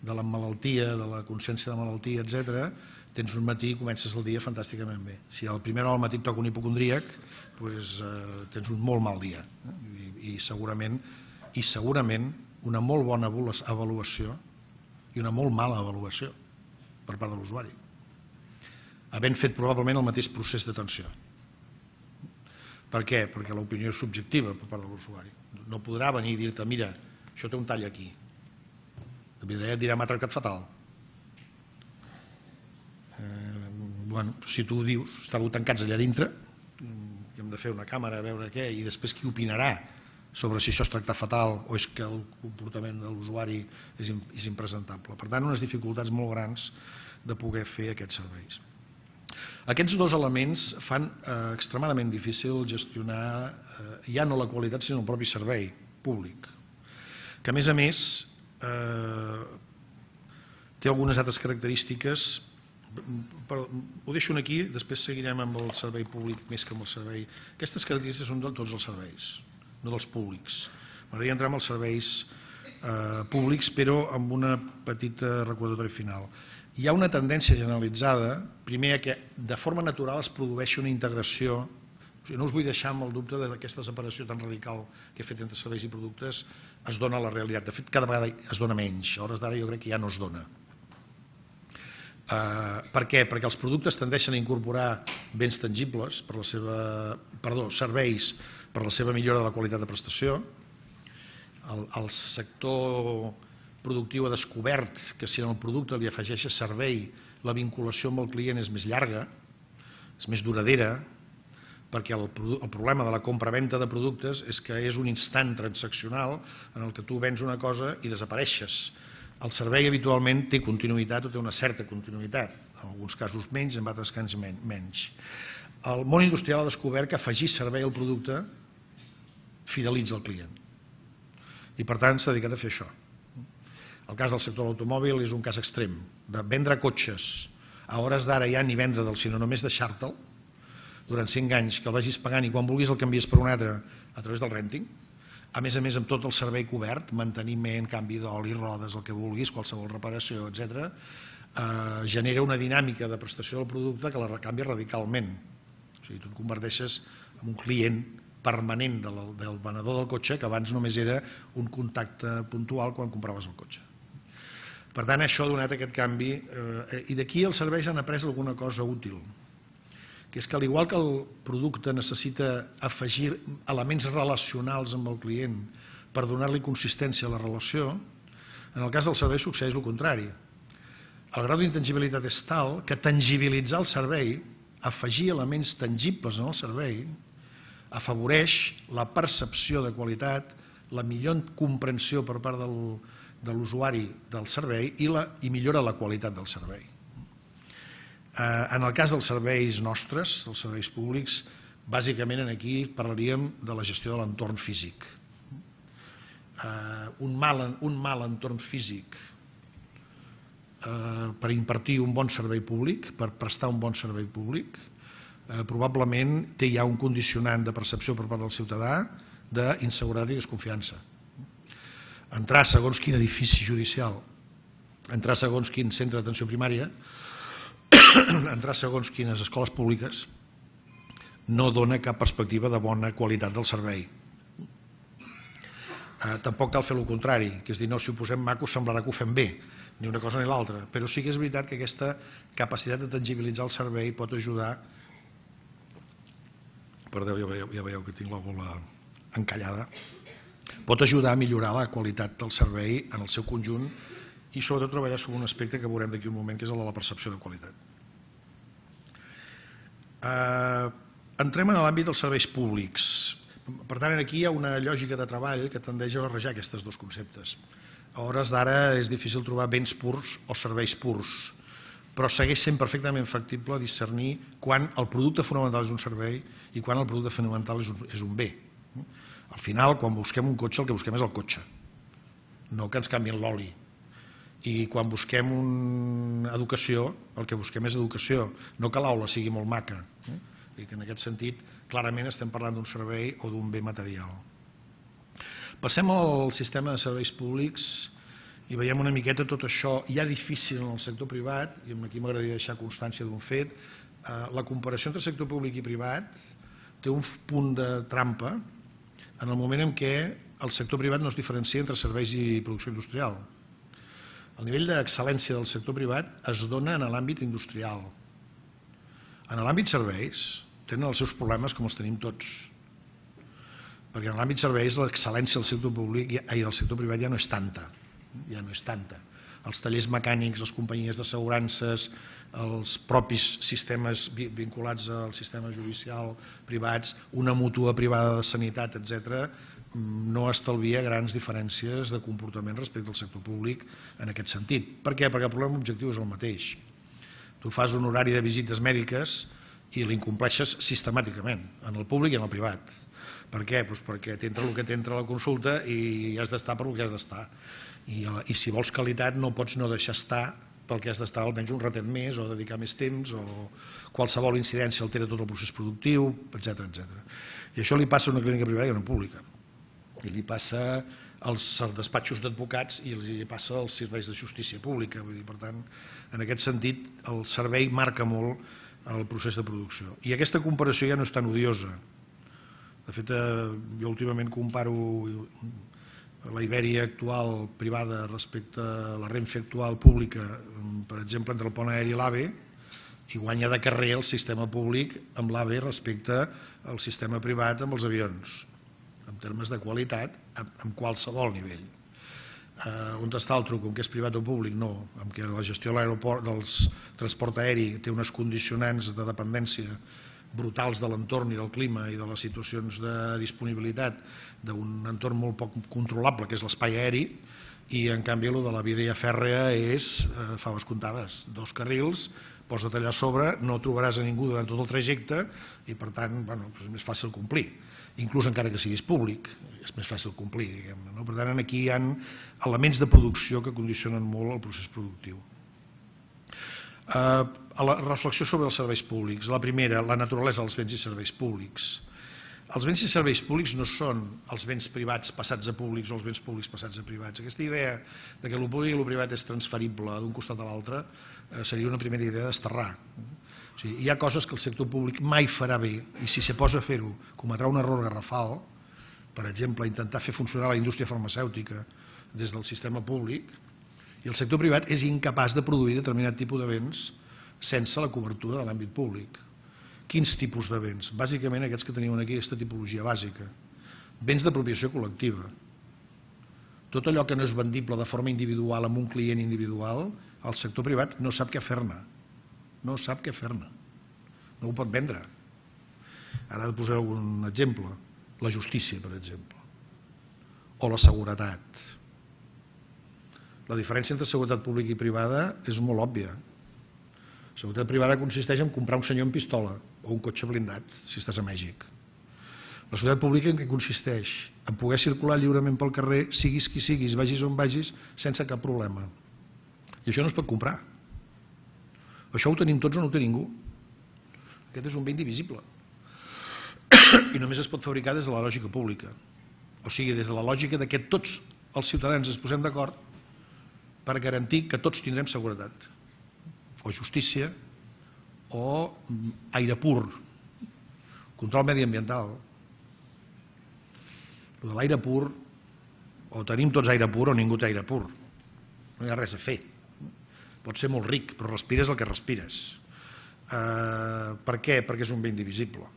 [SPEAKER 1] de la malaltia, de la consciència de malaltia, etc., tens un matí i comences el dia fantàsticament bé. Si al primer hora al matí et toca un hipocondríac, tens un molt mal dia. I segurament una molt bona avaluació i una molt mala avaluació per part de l'usuari, havent fet probablement el mateix procés d'atenció. Per què? Perquè l'opinió és subjectiva per part de l'usuari. No podrà venir i dir-te, mira, això té un tall aquí. Et dirà, m'ha tractat fatal. Si tu ho dius, estàveu tancats allà dintre, hem de fer una càmera a veure què, i després qui opinarà sobre si això és tractar fatal o és que el comportament de l'usuari és impresentable. Per tant, unes dificultats molt grans de poder fer aquests serveis. Aquests dos elements fan extremadament difícil gestionar ja no la qualitat sinó el propi servei públic, que a més té algunes altres característiques. Ho deixo aquí, després seguirem amb el servei públic més que amb el servei. Aquestes característiques són de tots els serveis, no dels públics. M'agradaria entrar en els serveis públics, però amb una petita recordatori final. Hi ha una tendència generalitzada, primer, que de forma natural es produeixi una integració. No us vull deixar amb el dubte que aquesta separació tan radical que he fet entre serveis i productes es dona a la realitat. De fet, cada vegada es dona menys. A hores d'ara jo crec que ja no es dona. Per què? Perquè els productes tendeixen a incorporar béns tangibles, serveis per la seva millora de la qualitat de prestació. El sector productiu ha descobert que si en el producte li afegeixes servei, la vinculació amb el client és més llarga, és més duradera, perquè el problema de la compra-venda de productes és que és un instant transaccional en el que tu vens una cosa i desapareixes. El servei habitualment té continuïtat o té una certa continuïtat, en alguns casos menys, en altres casos menys. El món industrial ha descobert que afegir servei al producte fidelitza el client. I per tant s'ha dedicat a fer això. El cas del sector de l'automòbil és un cas extrem. De vendre cotxes a hores d'ara ja ni vendre'l, sinó només deixar-te'l durant 5 anys, que el vagis pagant i quan vulguis el canvies per un altre a través del renting. A més amb tot el servei cobert, manteniment, canvi d'oli, rodes, el que vulguis, qualsevol reparació, etc., genera una dinàmica de prestació del producte que la canvia radicalment. O sigui, tu et converteixes en un client permanent del venedor del cotxe, que abans només era un contacte puntual quan compraves el cotxe. Per tant, això ha donat aquest canvi, i d'aquí els serveis han après alguna cosa útil, que és que al igual que el producte necessita afegir elements relacionals amb el client per donar-li consistència a la relació, en el cas del servei succeeix el contrari. El grau d'intangibilitat és tal que tangibilitzar el servei, afegir elements tangibles en el servei, afavoreix la percepció de qualitat, la millor comprensió per part de l'usuari del servei i millora la qualitat del servei. En el cas dels serveis nostres, dels serveis públics, bàsicament aquí parlaríem de la gestió de l'entorn físic. Un mal entorn físic per impartir un bon servei públic, per prestar un bon servei públic, probablement té ja un condicionant de percepció per part del ciutadà d'inseguretat i desconfiança. Entrar segons quin edifici judicial, entrar segons quin centre d'atenció primària, entrar segons quines escoles públiques, no dona cap perspectiva de bona qualitat del servei. Tampoc cal fer el contrari, que és dir, no, si ho posem maco semblarà que ho fem bé, ni una cosa ni l'altra, però sí que és veritat que aquesta capacitat de tangibilitzar el servei pot ajudar. Perdó, ja veieu que tinc la bola encallada. Pot ajudar a millorar la qualitat del servei en el seu conjunt i sobretot treballar sobre un aspecte que veurem d'aquí un moment, que és el de la percepció de qualitat. Entrem en l'àmbit dels serveis públics. Per tant, aquí hi ha una lògica de treball que tendeix a barrejar aquests dos conceptes. A hores d'ara és difícil trobar béns purs o serveis purs, però segueix sent perfectament factible discernir quan el producte fonamental és un servei i quan el producte fonamental és un bé. Al final, quan busquem un cotxe, el que busquem és el cotxe, no que ens canviïn l'oli. I quan busquem educació, el que busquem és educació, no que l'aula sigui molt maca. I que en aquest sentit, clarament estem parlant d'un servei o d'un bé material. Passem al sistema de serveis públics i veiem una miqueta tot això ja difícil en el sector privat, i aquí m'agradaria deixar constància d'un fet. La comparació entre sector públic i privat té un punt de trampa en el moment en què el sector privat no es diferencia entre serveis i producció industrial. El nivell d'excel·lència del sector privat es dona en l'àmbit industrial. En l'àmbit serveis tenen els seus problemes com els tenim tots, perquè en l'àmbit serveis l'excel·lència del sector públic i del sector privat ja no és tanta. Els tallers mecànics, les companyies d'assegurances, els propis sistemes vinculats al sistema judicial privats, una mútua privada de sanitat, etc., no estalvia grans diferències de comportament respecte al sector públic en aquest sentit. Per què? Perquè el problema objectiu és el mateix. Tu fas un horari de visites mèdiques i l'incompleixes sistemàticament, en el públic i en el privat. Per què? Perquè t'entra el que t'entra a la consulta i has d'estar per el que has d'estar. I si vols qualitat no pots no deixar estar pel que has d'estar almenys un ratet més o dedicar més temps o qualsevol incidència altera tot el procés productiu, etc. I això li passa a una clínica privada i a una pública. I li passa als despatxos d'advocats i li passa als serveis de justícia pública. Per tant, en aquest sentit, el servei marca molt el procés de producció. I aquesta comparació ja no és tan odiosa. De fet, jo últimament comparo la Ibèria actual privada respecte a la Renfe actual pública, per exemple, entre el pont aeri i l'AVE, i guanya de carrer el sistema públic amb l'AVE respecte al sistema privat amb els avions, en termes de qualitat, en qualsevol nivell. On està el truc? Com que és privat o públic? No. En què la gestió de l'aeroport, del transport aeri, té unes condicionants de dependència brutals de l'entorn i del clima i de les situacions de disponibilitat d'un entorn molt poc controlable, que és l'espai aeri, i en canvi el de la via fèrrea és faves comptades. 2 carrils, posa't allà a sobre, no trobaràs a ningú durant tot el trajecte i, per tant, és més fàcil complir. Inclús encara que siguis públic, és més fàcil complir, diguem-ne. Per tant, aquí hi ha elements de producció que condicionen molt el procés productiu. La reflexió sobre els serveis públics. La primera, la naturalesa dels béns i serveis públics. Els béns i serveis públics no són els béns privats passats a públics o els béns públics passats a privats. Aquesta idea de que el públic i el privat és transferible d'un costat a l'altre seria una primera idea d'esterrar. O sigui, hi ha coses que el sector públic mai farà bé i si se posa a fer-ho cometrà un error garrafal, per exemple, intentar fer funcionar la indústria farmacèutica des del sistema públic, i el sector privat és incapaç de produir determinat tipus de béns sense la cobertura de l'àmbit públic. Quins tipus de béns? Bàsicament aquests que teniu aquí, aquesta tipologia bàsica. Béns d'apropiació col·lectiva. Tot allò que no és vendible de forma individual amb un client individual, el sector privat no sap què fer-ne. No sap què fer-ne. No ho pot vendre. Ara he de posar un exemple. La justícia, per exemple. O la seguretat. La diferència entre seguretat pública i privada és molt òbvia. La seguretat privada consisteix en comprar un senyor amb pistola o un cotxe blindat, si estàs a Mèxic. La seguretat pública en què consisteix? En poder circular lliurement pel carrer, siguis qui siguis, vagis on vagis, sense cap problema. I això no es pot comprar. Això ho tenim tots o no ho té ningú. Aquest és un bé indivisible. I només es pot fabricar des de la lògica pública. O sigui, des de la lògica que tots els ciutadans ens posem d'acord per garantir que tots tindrem seguretat. O justícia, o aire pur, control mediambiental. L'aire pur, o tenim tots aire pur o ningú té aire pur. No hi ha res a fer. Pot ser molt ric, però respires el que respires. Per què? Perquè és un bé indivisible.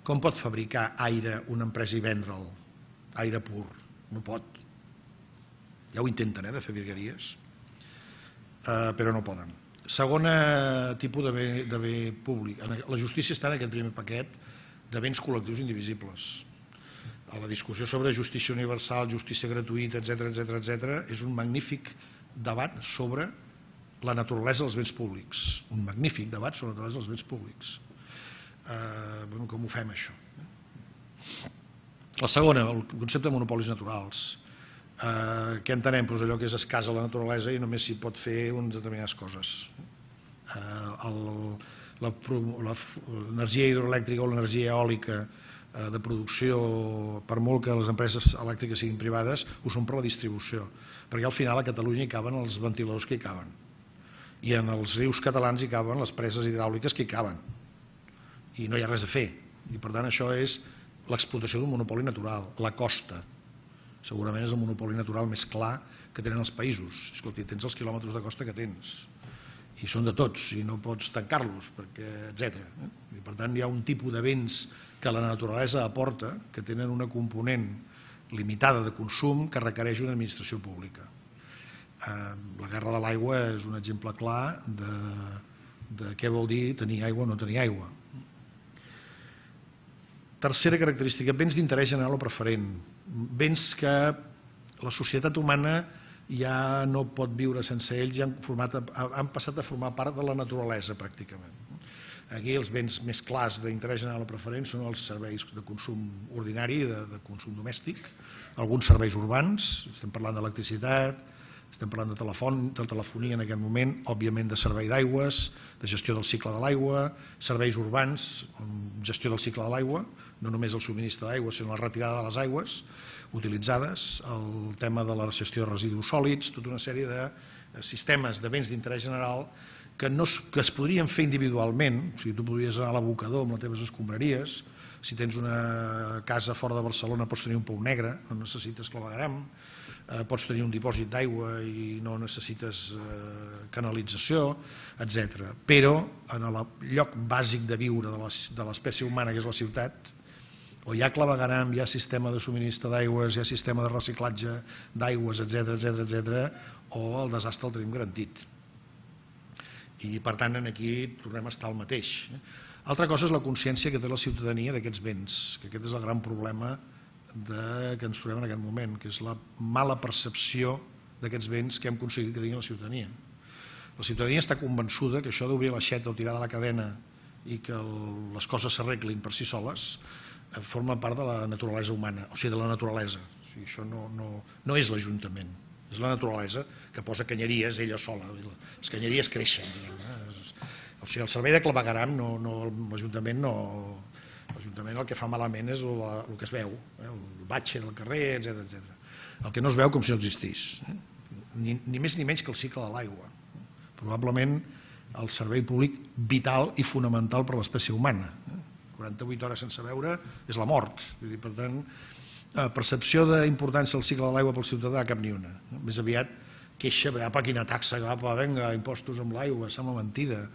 [SPEAKER 1] Com pot fabricar aire una empresa i vendre'l? Aire pur. No pot. Ja ho intenten, de fer virgueries, però no poden. Segon tipus de bé públic. La justícia està en aquest primer paquet de béns col·lectius indivisibles. La discussió sobre justícia universal, justícia gratuïta, etc. és un magnífic debat sobre la naturalesa dels béns públics. Un magnífic debat sobre la naturalesa dels béns públics. Com ho fem, això? La segona, el concepte de monopolis naturals. Què entenem? Allò que és escàs a la naturalesa i només s'hi pot fer unes determinades coses. L'energia hidroelèctrica o l'energia eòlica de producció, per molt que les empreses elèctriques siguin privades, ho són per la distribució, perquè al final a Catalunya hi caben els ventiladors que hi caben i en els rius catalans hi caben les preses hidràuliques que hi caben i no hi ha res a fer, i per tant això és l'explotació d'un monopoli natural. La costa segurament és el monopoli natural més clar que tenen els països. Escolti, tens els quilòmetres de costa que tens i són de tots i no pots tancar-los, etc. I per tant hi ha un tipus de béns que la naturalesa aporta que tenen una component limitada de consum que requereix una administració pública. La guerra de l'aigua és un exemple clar de què vol dir tenir aigua o no tenir aigua. Tercera característica, béns d'interès general o preferent. Béns que la societat humana ja no pot viure sense ells, han passat a formar part de la naturalesa pràcticament. Aquí els béns més clars d'interès general o preferent són els serveis de consum ordinari, de consum domèstic, alguns serveis urbans, estem parlant d'electricitat, estem parlant de telefonia en aquest moment, òbviament de servei d'aigües, de gestió del cicle de l'aigua, serveis urbans, gestió del cicle de l'aigua, no només el subministre d'aigua, sinó la retirada de les aigües utilitzades, el tema de la gestió de residus sòlids, tota una sèrie de sistemes de béns d'interès general que es podrien fer individualment. O sigui, tu podries anar a l'abocador amb les teves escombraries, si tens una casa fora de Barcelona pots tenir un pou negre, no necessites clavegueram, pots tenir un dipòsit d'aigua i no necessites canalització, etc. Però en el lloc bàsic de viure de l'espècie humana, que és la ciutat, o hi ha clavegueram, hi ha sistema de subministre d'aigües, hi ha sistema de reciclatge d'aigües, etc., o el desastre el tenim garantit. I per tant aquí tornem a estar al mateix. Altra cosa és la consciència que té la ciutadania d'aquests béns, que aquest és el gran problema que ens trobem en aquest moment, que és la mala percepció d'aquests béns que hem aconseguit que tingui la ciutadania. La ciutadania està convençuda que això d'obrir l'aixeta o tirar de la cadena i que les coses s'arreglin per si soles forma part de la naturalesa humana, o sigui, de la naturalesa. O sigui, això no és l'Ajuntament, és la naturalesa que posa canyeries ella sola. Les canyeries creixen, diguem-ne. O sigui, el servei de clavegueram, l'Ajuntament no... L'Ajuntament el que fa malament és el que es veu, el batxe del carrer, etc. El que no es veu com si no existís. Ni més ni menys que el cicle de l'aigua. Probablement el servei públic vital i fonamental per a l'espècie humana. 48 hores sense beure és la mort. Per tant, percepció d'importància del cicle de l'aigua pel ciutadà, cap ni una. Més aviat queixa, apa, quina taxa, apa, vinga, impostos amb l'aigua, sembla mentida,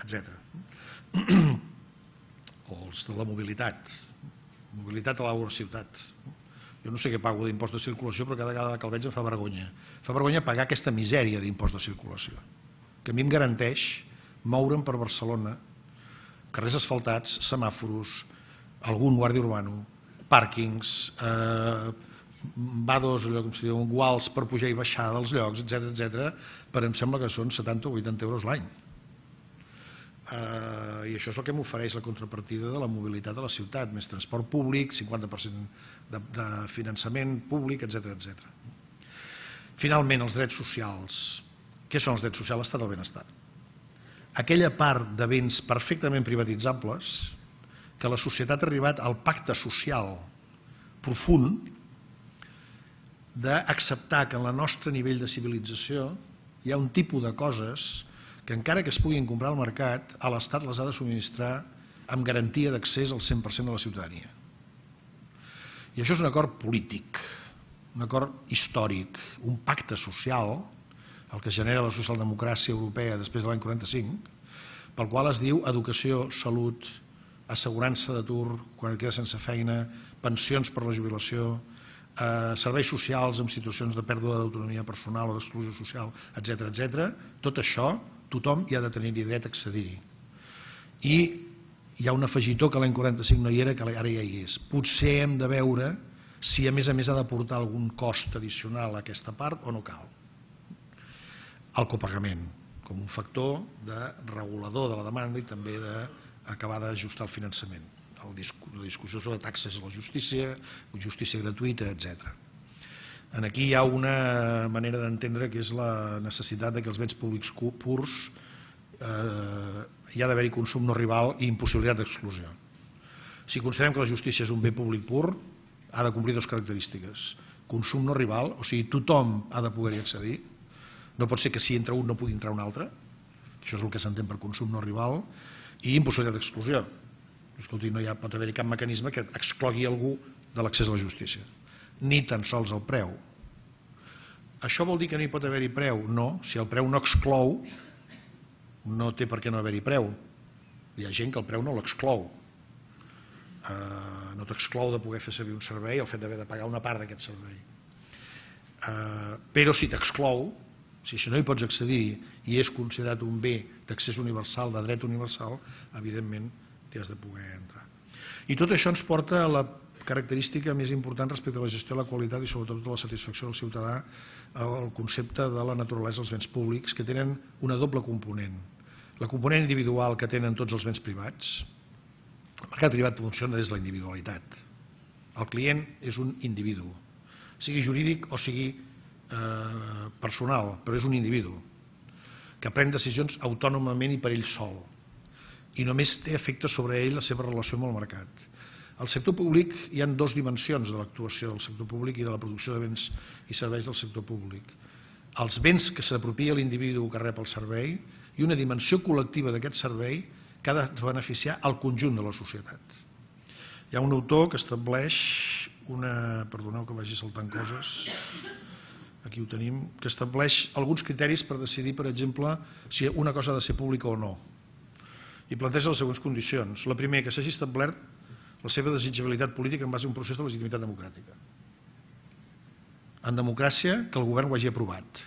[SPEAKER 1] etc. O els de la mobilitat. Mobilitat a la ciutat. Jo no sé què pago d'impost de circulació, però cada vegada que el veig em fa vergonya. Fa vergonya pagar aquesta misèria d'impost de circulació, que a mi em garanteix moure'm per Barcelona, carrers asfaltats, semàforos, algun guàrdia urbano, pàrquings, vados, allò com si diu, guals per pujar i baixar dels llocs, etc., però em sembla que són 70 o 80 euros l'any. I això és el que m'ofereix la contrapartida de la mobilitat a la ciutat, més transport públic, 50% de finançament públic, etc. Finalment, els drets socials. Què són els drets socials? L'estat del benestar. Aquella part de béns perfectament privatitzables que la societat ha arribat al pacte social profund d'acceptar que en el nostre nivell de civilització hi ha un tipus de coses que encara que es puguin comprar al mercat, a l'Estat les ha de subministrar amb garantia d'accés al 100% de la ciutadania. I això és un acord polític, un acord històric, un pacte social, el que genera la socialdemocràcia europea després de l'any 45, pel qual es diu educació, salut, assegurança d'atur quan et queda sense feina, pensions per la jubilació, serveis socials en situacions de pèrdua d'autonomia personal o d'exclusió social, etc. Tot això tothom hi ha de tenir-hi dret a accedir-hi. I hi ha un afegitó que l'any 45 no hi era, que ara ja hi és. Potser hem de veure si a més ha d'aportar algun cost addicional a aquesta part o no cal. El copagament, com un factor de regulador de la demanda i també d'acabar d'ajustar el finançament. La discussió sobre taxes a la justícia, justícia gratuïta, etc. Aquí hi ha una manera d'entendre que és la necessitat que els béns públics purs hi ha d'haver-hi consum no rival i impossibilitat d'exclusió. Si considerem que la justícia és un bé públic pur, ha de complir dues característiques. Consum no rival, o sigui, tothom ha de poder-hi accedir. No pot ser que si entra un no pugui entrar un altre. Això és el que s'entén per consum no rival. I impossibilitat d'exclusió. Escolti, no pot haver-hi cap mecanisme que exclogui algú de l'accés a la justícia. Ni tan sols el preu. Això vol dir que no hi pot haver-hi preu? No, si el preu no exclou, no té per què no haver-hi preu. Hi ha gent que el preu no l'exclou. No t'exclou de poder fer servir un servei el fet d'haver de pagar una part d'aquest servei. Però si t'exclou, si no hi pots accedir i és considerat un bé d'accés universal, de dret universal, evidentment t'hi has de poder entrar. I tot això ens porta a la característica més important respecte a la gestió de la qualitat i sobretot de la satisfacció del ciutadà, el concepte de la naturalesa dels béns públics, que tenen una doble component. La component individual que tenen tots els béns privats. El mercat privat funciona des de la individualitat. El client és un individu, sigui jurídic o sigui personal, però és un individu que pren decisions autònomament i per ell sol i només té efecte sobre ell la seva relació amb el mercat. Al sector públic hi ha dues dimensions de l'actuació del sector públic i de la producció de béns i serveis del sector públic. Els béns que s'apropia l'individu que rep el servei i una dimensió col·lectiva d'aquest servei que ha de beneficiar el conjunt de la societat. Hi ha un autor que estableix una... Perdoneu que vagi saltant coses. Aquí ho tenim, que estableix alguns criteris per decidir, per exemple, si una cosa ha de ser pública o no. I planteja les següents condicions. La primera, que s'hagi establert la seva desitjabilitat política en base a un procés de legitimitat democràtica. En democràcia, que el govern ho hagi aprovat,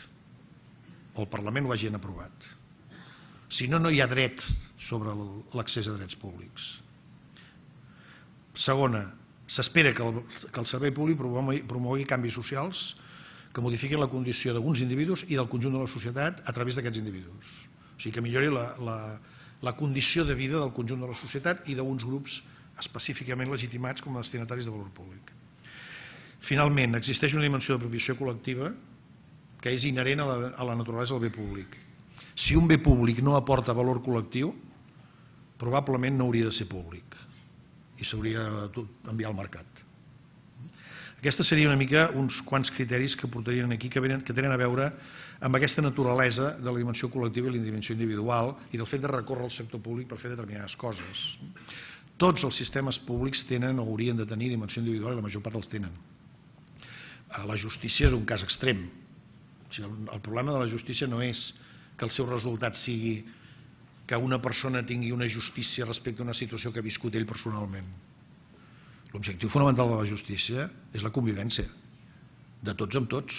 [SPEAKER 1] o el Parlament ho hagin aprovat. Si no, no hi ha dret sobre l'accés a drets públics. Segona, s'espera que el servei públic promogui canvis socials que modifiquin la condició d'alguns individus i del conjunt de la societat a través d'aquests individus. O sigui, que millori la condició de vida del conjunt de la societat i d'uns grups específicament legitimats com a destinataris de valor públic. Finalment, existeix una dimensió de propieció col·lectiva que és inherent a la naturalesa del bé públic. Si un bé públic no aporta valor col·lectiu, probablement no hauria de ser públic i s'hauria d'enviar al mercat. Aquestes serien una mica uns quants criteris que portarien aquí que tenen a veure amb aquesta naturalesa de la dimensió col·lectiva i la dimensió individual i del fet de recórrer al sector públic per fer determinades coses. Tots els sistemes públics tenen o haurien de tenir dimensió individual i la major part els tenen. La justícia és un cas extrem. El problema de la justícia no és que el seu resultat sigui que una persona tingui una justícia respecte a una situació que ha viscut ell personalment. L'objectiu fonamental de la justícia és la convivència de tots amb tots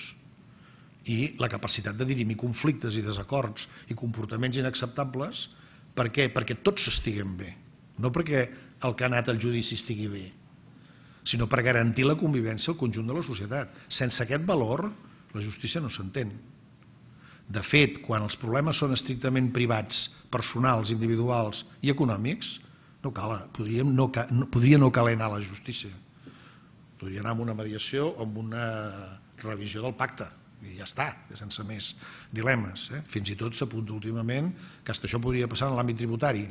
[SPEAKER 1] i la capacitat de dirimir conflictes i desacords i comportaments inacceptables. Per què? Perquè tots estiguem bé, no perquè el que ha anat al judici estigui bé, sinó per garantir la convivència al conjunt de la societat. Sense aquest valor, la justícia no s'entén. De fet, quan els problemes són estrictament privats, personals, individuals i econòmics, no cal, podria no caler anar a la justícia. Podria anar amb una mediació o amb una revisió del pacte i ja està, sense més dilemes. Fins i tot s'apunta últimament que això podria passar en l'àmbit tributari,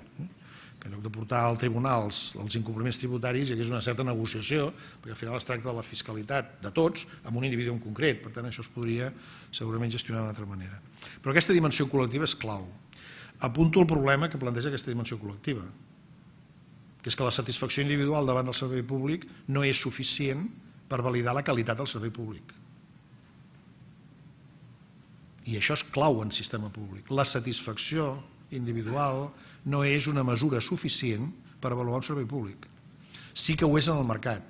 [SPEAKER 1] que en lloc de portar al tribunal els incompliments tributaris hi hagués una certa negociació, perquè al final es tracta de la fiscalitat de tots amb un individu en concret. Per tant, això es podria segurament gestionar d'una altra manera. Però aquesta dimensió col·lectiva és clau. Apunto el problema que planteja aquesta dimensió col·lectiva, que és que la satisfacció individual davant del servei públic no és suficient per validar la qualitat del servei públic. I això és clau en sistema públic. La satisfacció individual no és una mesura suficient per avaluar un servei públic. Sí que ho és en el mercat.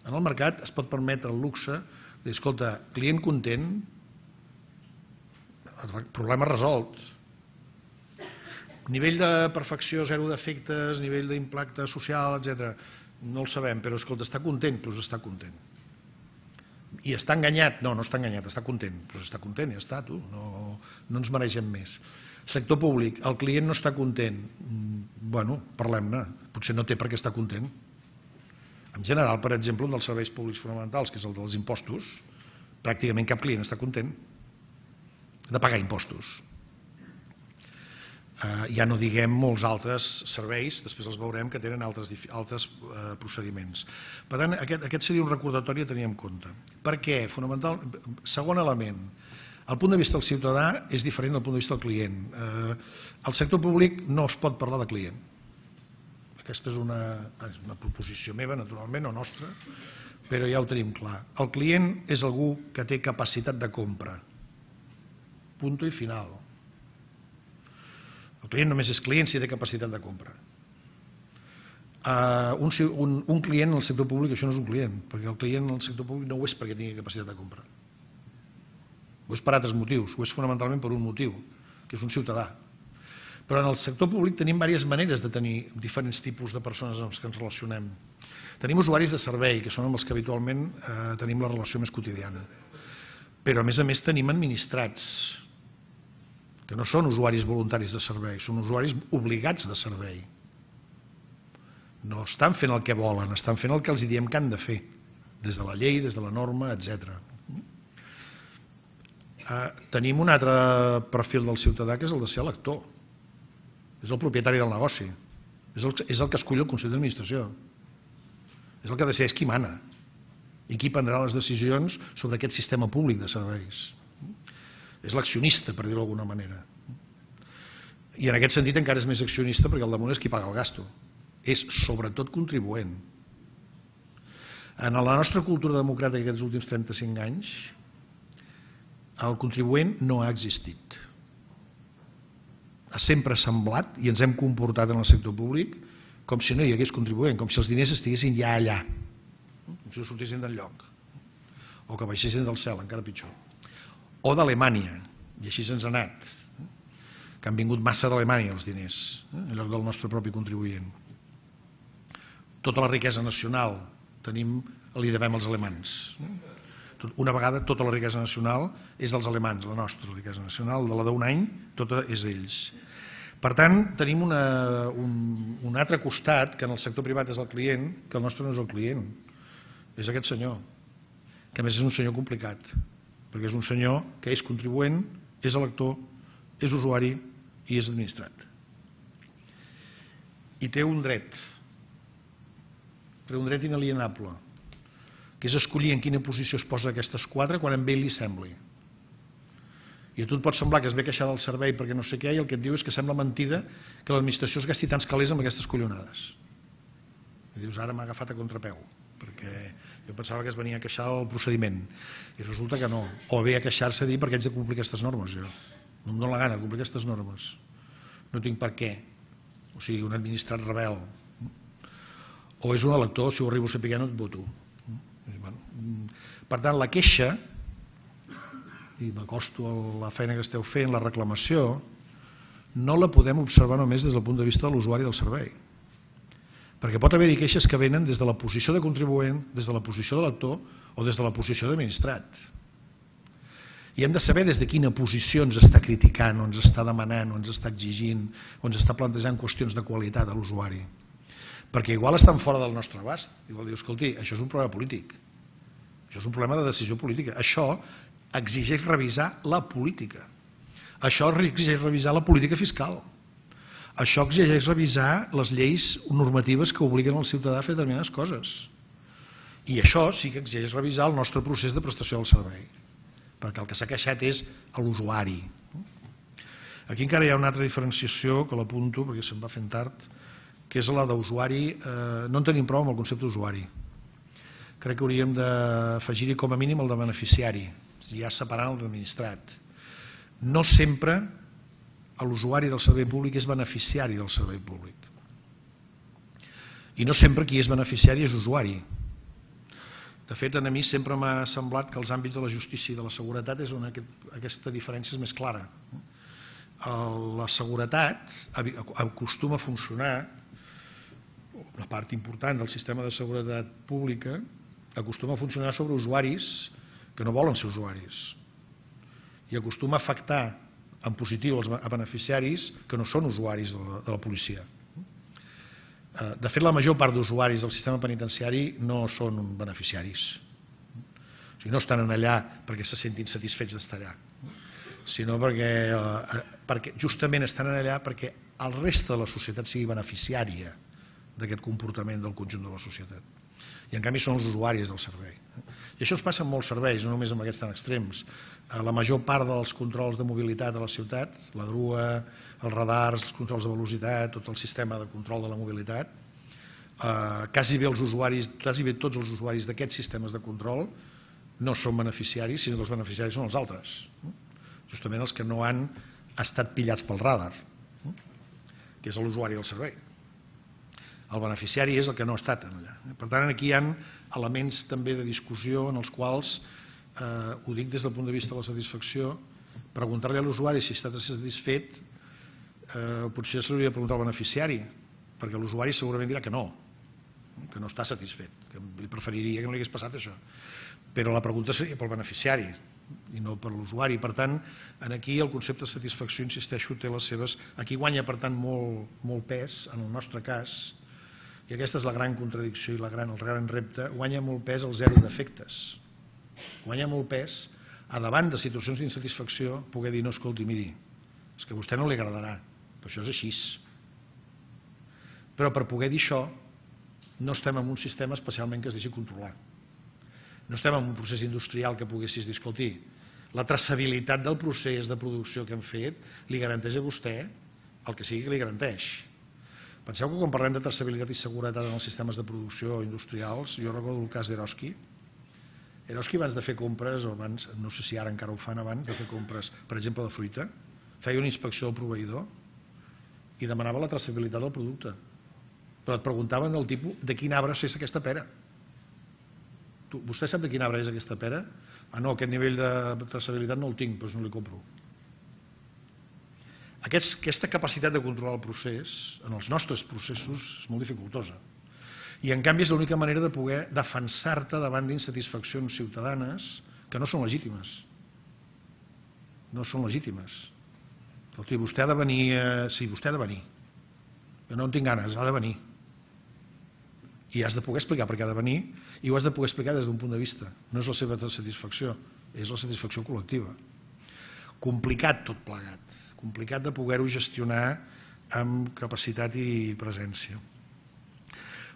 [SPEAKER 1] En el mercat es pot permetre el luxe de dir, escolta, client content, problema resolt. Nivell de perfecció, zero defectes, nivell d'impacte social, etc. No el sabem, però escolta, està content? Doncs està content. I està enganyat? No, no està enganyat, està content. Doncs està content, ja està, tu. No ens mereixem més. Sector públic, el client no està content. Bueno, parlem-ne. Potser no té per què estar content. En general, per exemple, un dels serveis públics fonamentals, que és el dels impostos, pràcticament cap client està content de pagar impostos. Ja no diguem molts altres serveis, després els veurem, que tenen altres procediments. Per tant, aquest seria un recordatori a tenir en compte. Per què? Fonamental. Segon element, el punt de vista del ciutadà és diferent del punt de vista del client. Al sector públic no es pot parlar de client. Aquesta és una proposició meva, naturalment, o nostra, però ja ho tenim clar. El client és algú que té capacitat de compra. Punto i final. El client només és client si té capacitat de compra. Un client en el sector públic això no és un client, perquè el client en el sector públic no ho és perquè tingui capacitat de compra. Ho és per altres motius, ho és fonamentalment per un motiu, que és un ciutadà. Però en el sector públic tenim diverses maneres de tenir diferents tipus de persones amb les que ens relacionem. Tenim usuaris de servei, que són amb els que habitualment tenim la relació més quotidiana. Però a més tenim administrats, que no són usuaris voluntaris de servei, són usuaris obligats de servei. No estan fent el que volen, estan fent el que els diem que han de fer, des de la llei, des de la norma, etc. Tenim un altre perfil del ciutadà, que és el de ser elector. És el propietari del negoci. És el que escull el Consell d'Administració. És el que decideix qui mana i qui prendrà les decisions sobre aquest sistema públic de serveis. És l'accionista, per dir-ho d'alguna manera. I en aquest sentit encara és més accionista perquè al damunt és qui paga el gasto. És sobretot contribuent. En la nostra cultura democràtica aquests últims 35 anys, el contribuent no ha existit. Ha sempre semblat, i ens hem comportat en el sector públic, com si no hi hagués contribuent, com si els diners estiguessin ja allà, com si no sortissin del lloc, o que baixessin del cel, encara pitjor. O d'Alemanya, i així se'ns ha anat, que han vingut massa d'Alemanya els diners, en lloc del nostre propi contribuent. Tota la riquesa nacional li devem als alemans. Una vegada tota la riquesa nacional és dels alemans, la nostra riquesa nacional, de la d'un any, tota és d'ells. Per tant, tenim un altre costat, que en el sector privat és el client, que el nostre no és el client, és aquest senyor, que a més és un senyor complicat, perquè és un senyor que és contribuent, és elector, és usuari i és administrat. I té un dret inalienable, que és escollir en quina posició es posa aquestes quatre quan a ell li sembli. I a tu et pot semblar que es ve queixar del servei perquè no sé què, i el que et diu és que sembla mentida que l'administració es gasti tants calés amb aquestes collonades. I dius, ara m'ha agafat a contrapeu, perquè jo pensava que es venia a queixar del procediment, i resulta que no. O ve a queixar-se a dir perquè haig de complir aquestes normes, jo. No em dóna la gana de complir aquestes normes. No tinc per què. O sigui, un administrat rebel. O és un elector, si ho arribo a saber no et voto. Per tant, la queixa, i m'acosto a la feina que esteu fent, la reclamació, no la podem observar només des del punt de vista de l'usuari del servei. Perquè pot haver-hi queixes que venen des de la posició de contribuent, des de la posició de lector o des de la posició d'administrat. I hem de saber des de quina posició ens està criticant, o ens està demanant, o ens està exigint, o ens està plantejant qüestions de qualitat a l'usuari. Perquè igual estan fora del nostre abast. Igual diu, escolti, això és un problema polític. Això és un problema de decisió política. Això exigeix revisar la política. Això exigeix revisar la política fiscal. Això exigeix revisar les lleis normatives que obliguen el ciutadà a fer determinades coses. I això sí que exigeix revisar el nostre procés de prestació del servei. Perquè el que s'ha queixat és l'usuari. Aquí encara hi ha una altra diferenciació que l'apunto perquè se'm va fent tard, que és la d'usuari. No en tenim prou amb el concepte d'usuari. Crec que hauríem d'afegir-hi com a mínim el de beneficiari, ja separant el d'administrat. No sempre l'usuari del servei públic és beneficiari del servei públic. I no sempre qui és beneficiari és usuari. De fet, a mi sempre m'ha semblat que els àmbits de la justícia i de la seguretat és on aquesta diferència és més clara. La seguretat acostuma a funcionar, una part important del sistema de seguretat pública acostuma a funcionar sobre usuaris que no volen ser usuaris i acostuma a afectar en positiu a beneficiaris que no són usuaris de la policia. De fet, la major part d'usuaris del sistema penitenciari no són beneficiaris. O sigui, no estan allà perquè se sentin satisfets d'estar allà, sinó perquè justament estan allà perquè el reste de la societat sigui beneficiària d'aquest comportament del conjunt de la societat. I en canvi són els usuaris del servei. I això es passa en molts serveis, no només en aquests tan extrems. La major part dels controls de mobilitat a la ciutat, la grua, els radars, els controls de velocitat, tot el sistema de control de la mobilitat, quasi bé tots els usuaris d'aquests sistemes de control no són beneficiaris, sinó que els beneficiaris són els altres, justament els que no han estat pillats pel radar, que és l'usuari del servei. El beneficiari és el que no ha estat allà. Per tant, aquí hi ha elements també de discussió en els quals, ho dic des del punt de vista de la satisfacció, preguntar-li a l'usuari si està satisfet, potser se li hauria de preguntar al beneficiari, perquè l'usuari segurament dirà que no està satisfet, que li preferiria que no li hagués passat això. Però la pregunta seria pel beneficiari i no per l'usuari. Per tant, aquí el concepte de satisfacció, insisteixo, té les seves... Aquí guanya, per tant, molt pes, en el nostre cas, i aquesta és la gran contradicció i el gran repte, guanya molt pes el zero defectes. Guanya molt pes, a davant de situacions d'insatisfacció, poder dir, no, escolti, miri, és que a vostè no li agradarà, però això és així. Però per poder dir això, no estem en un sistema especialment que es deixi controlar. No estem en un procés industrial que poguessis dir, escolti, la traçabilitat del procés de producció que hem fet li garanteix a vostè el que sigui que li garanteix. Penseu que quan parlem de traçabilitat i seguretat en els sistemes de producció industrials, jo recordo el cas d'Eroski. Eroski, abans de fer compres, o abans, no sé si ara encara ho fan, abans de fer compres, per exemple, de fruita, feia una inspecció del proveïdor i demanava la traçabilitat del producte. Però et preguntaven el tipus de quin arbre és aquesta pera. Vostè sap de quin arbre és aquesta pera? Ah, no, aquest nivell de traçabilitat no el tinc, doncs no li compro. Aquesta capacitat de controlar el procés, en els nostres processos, és molt dificultosa. I en canvi és l'única manera de poder defensar-te davant d'insatisfaccions ciutadanes que no són legítimes. No són legítimes. Escolti, vostè ha de venir... Sí, vostè ha de venir. Jo no en tinc ganes, ha de venir. I has de poder explicar per què ha de venir i ho has de poder explicar des d'un punt de vista. No és la seva satisfacció, és la satisfacció col·lectiva. Complicat tot plegat. Complicat de poder-ho gestionar amb capacitat i presència.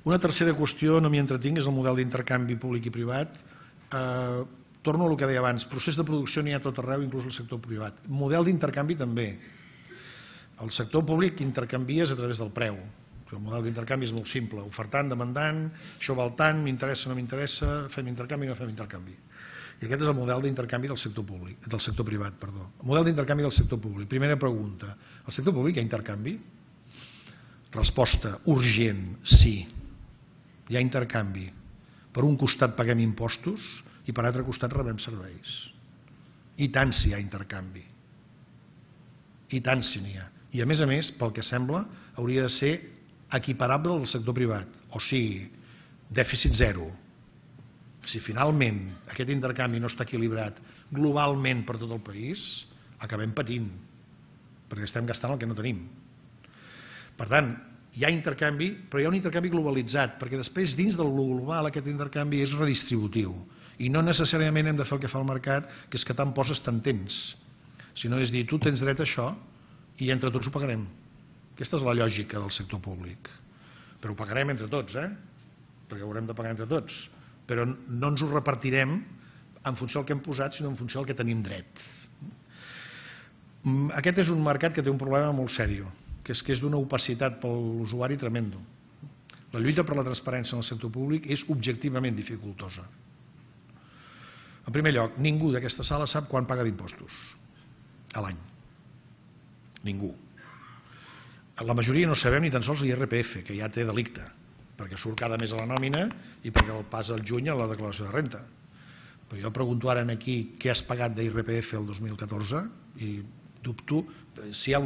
[SPEAKER 1] Una tercera qüestió, no m'hi entretinc, és el model d'intercanvi públic i privat. Torno al que deia abans, procés de producció n'hi ha tot arreu, inclús al sector privat. Model d'intercanvi també. El sector públic intercanvies a través del preu. El model d'intercanvi és molt simple, ofertant, demandant, això val tant, m'interessa, no m'interessa, fem intercanvi, no fem intercanvi. I aquest és el model d'intercanvi del sector públic, del sector privat, perdó. El model d'intercanvi del sector públic. Primera pregunta, al sector públic hi ha intercanvi? Resposta, urgent, sí. Hi ha intercanvi. Per un costat paguem impostos i per altre costat rebem serveis. I tant si hi ha intercanvi. I tant si n'hi ha. I a més, pel que sembla, hauria de ser equiparable al sector privat. O sigui, dèficit zero. Si finalment aquest intercanvi no està equilibrat globalment per tot el país, acabem patint, perquè estem gastant el que no tenim. Per tant, hi ha intercanvi, però hi ha un intercanvi globalitzat, perquè després dins del global aquest intercanvi és redistributiu i no necessàriament hem de fer el que fa el mercat, que és que tant poses tant tens, sinó és dir, tu tens dret a això i entre tots ho pagarem. Aquesta és la lògica del sector públic. Però ho pagarem entre tots, perquè ho haurem de pagar entre tots. Però no ens ho repartirem en funció del que hem posat, sinó en funció del que tenim dret. Aquest és un mercat que té un problema molt sèrio, que és d'una opacitat per l'usuari tremendo. La lluita per la transparència en el sector públic és objectivament dificultosa. En primer lloc, ningú d'aquesta sala sap quan paga d'impostos a l'any. Ningú. La majoria no sabem ni tan sols l'IRPF, que ja té delicte, perquè surt cada mes a la nòmina i perquè el passa al juny a la declaració de renta. Però jo pregunto ara aquí què has pagat d'IRPF el 2014 i dubto. Si hi ha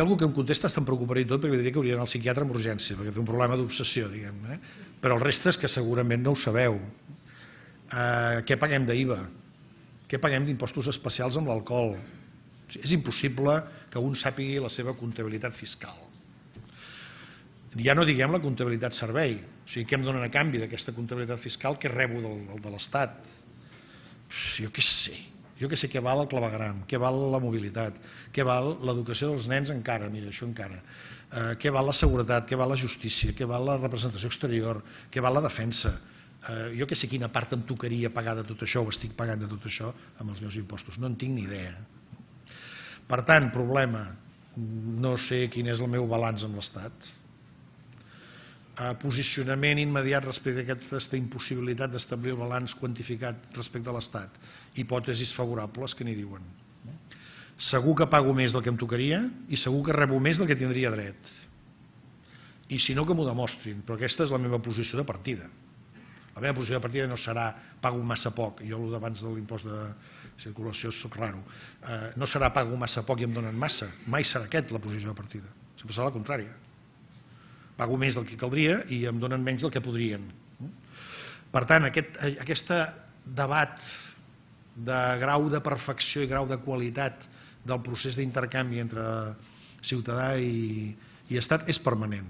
[SPEAKER 1] algú que em contesta estem preocupat i tot, perquè diria que hauria d'anar al psiquiatre amb urgència, perquè té un problema d'obsessió, diguem-ne. Però el reste és que segurament no ho sabeu. Què paguem d'IVA? Què paguem d'impostos especials amb l'alcohol? És impossible que un sàpigui la seva comptabilitat fiscal. Ja no diguem la comptabilitat servei, o sigui, què em donen a canvi d'aquesta comptabilitat fiscal que rebo de l'Estat? Jo què sé què val el clavegueram, què val la mobilitat, què val l'educació dels nens encara, mira, això encara, què val la seguretat, què val la justícia, què val la representació exterior, què val la defensa. Jo què sé quina part em tocaria pagar de tot això o estic pagant de tot això amb els meus impostos, no en tinc ni idea. Per tant, problema, no sé quin és el meu balanç amb l'Estat. Posicionament immediat respecte a aquesta impossibilitat d'establir el balanç quantificat respecte a l'Estat. Hipòtesis favorables que n'hi diuen. Segur que pago més del que em tocaria i segur que rebo més del que tindria dret. I si no, que m'ho demostrin, però aquesta és la meva posició de partida. La meva posició de partida no serà pago massa poc, jo el d'abans de l'impost de circulació soc raro, no serà pago massa poc i em donen massa, mai serà aquesta la posició de partida, sempre serà la contrària. Pago més del que caldria i em donen menys del que podrien. Per tant, aquest debat de grau de perfecció i grau de qualitat del procés d'intercanvi entre ciutadà i Estat és permanent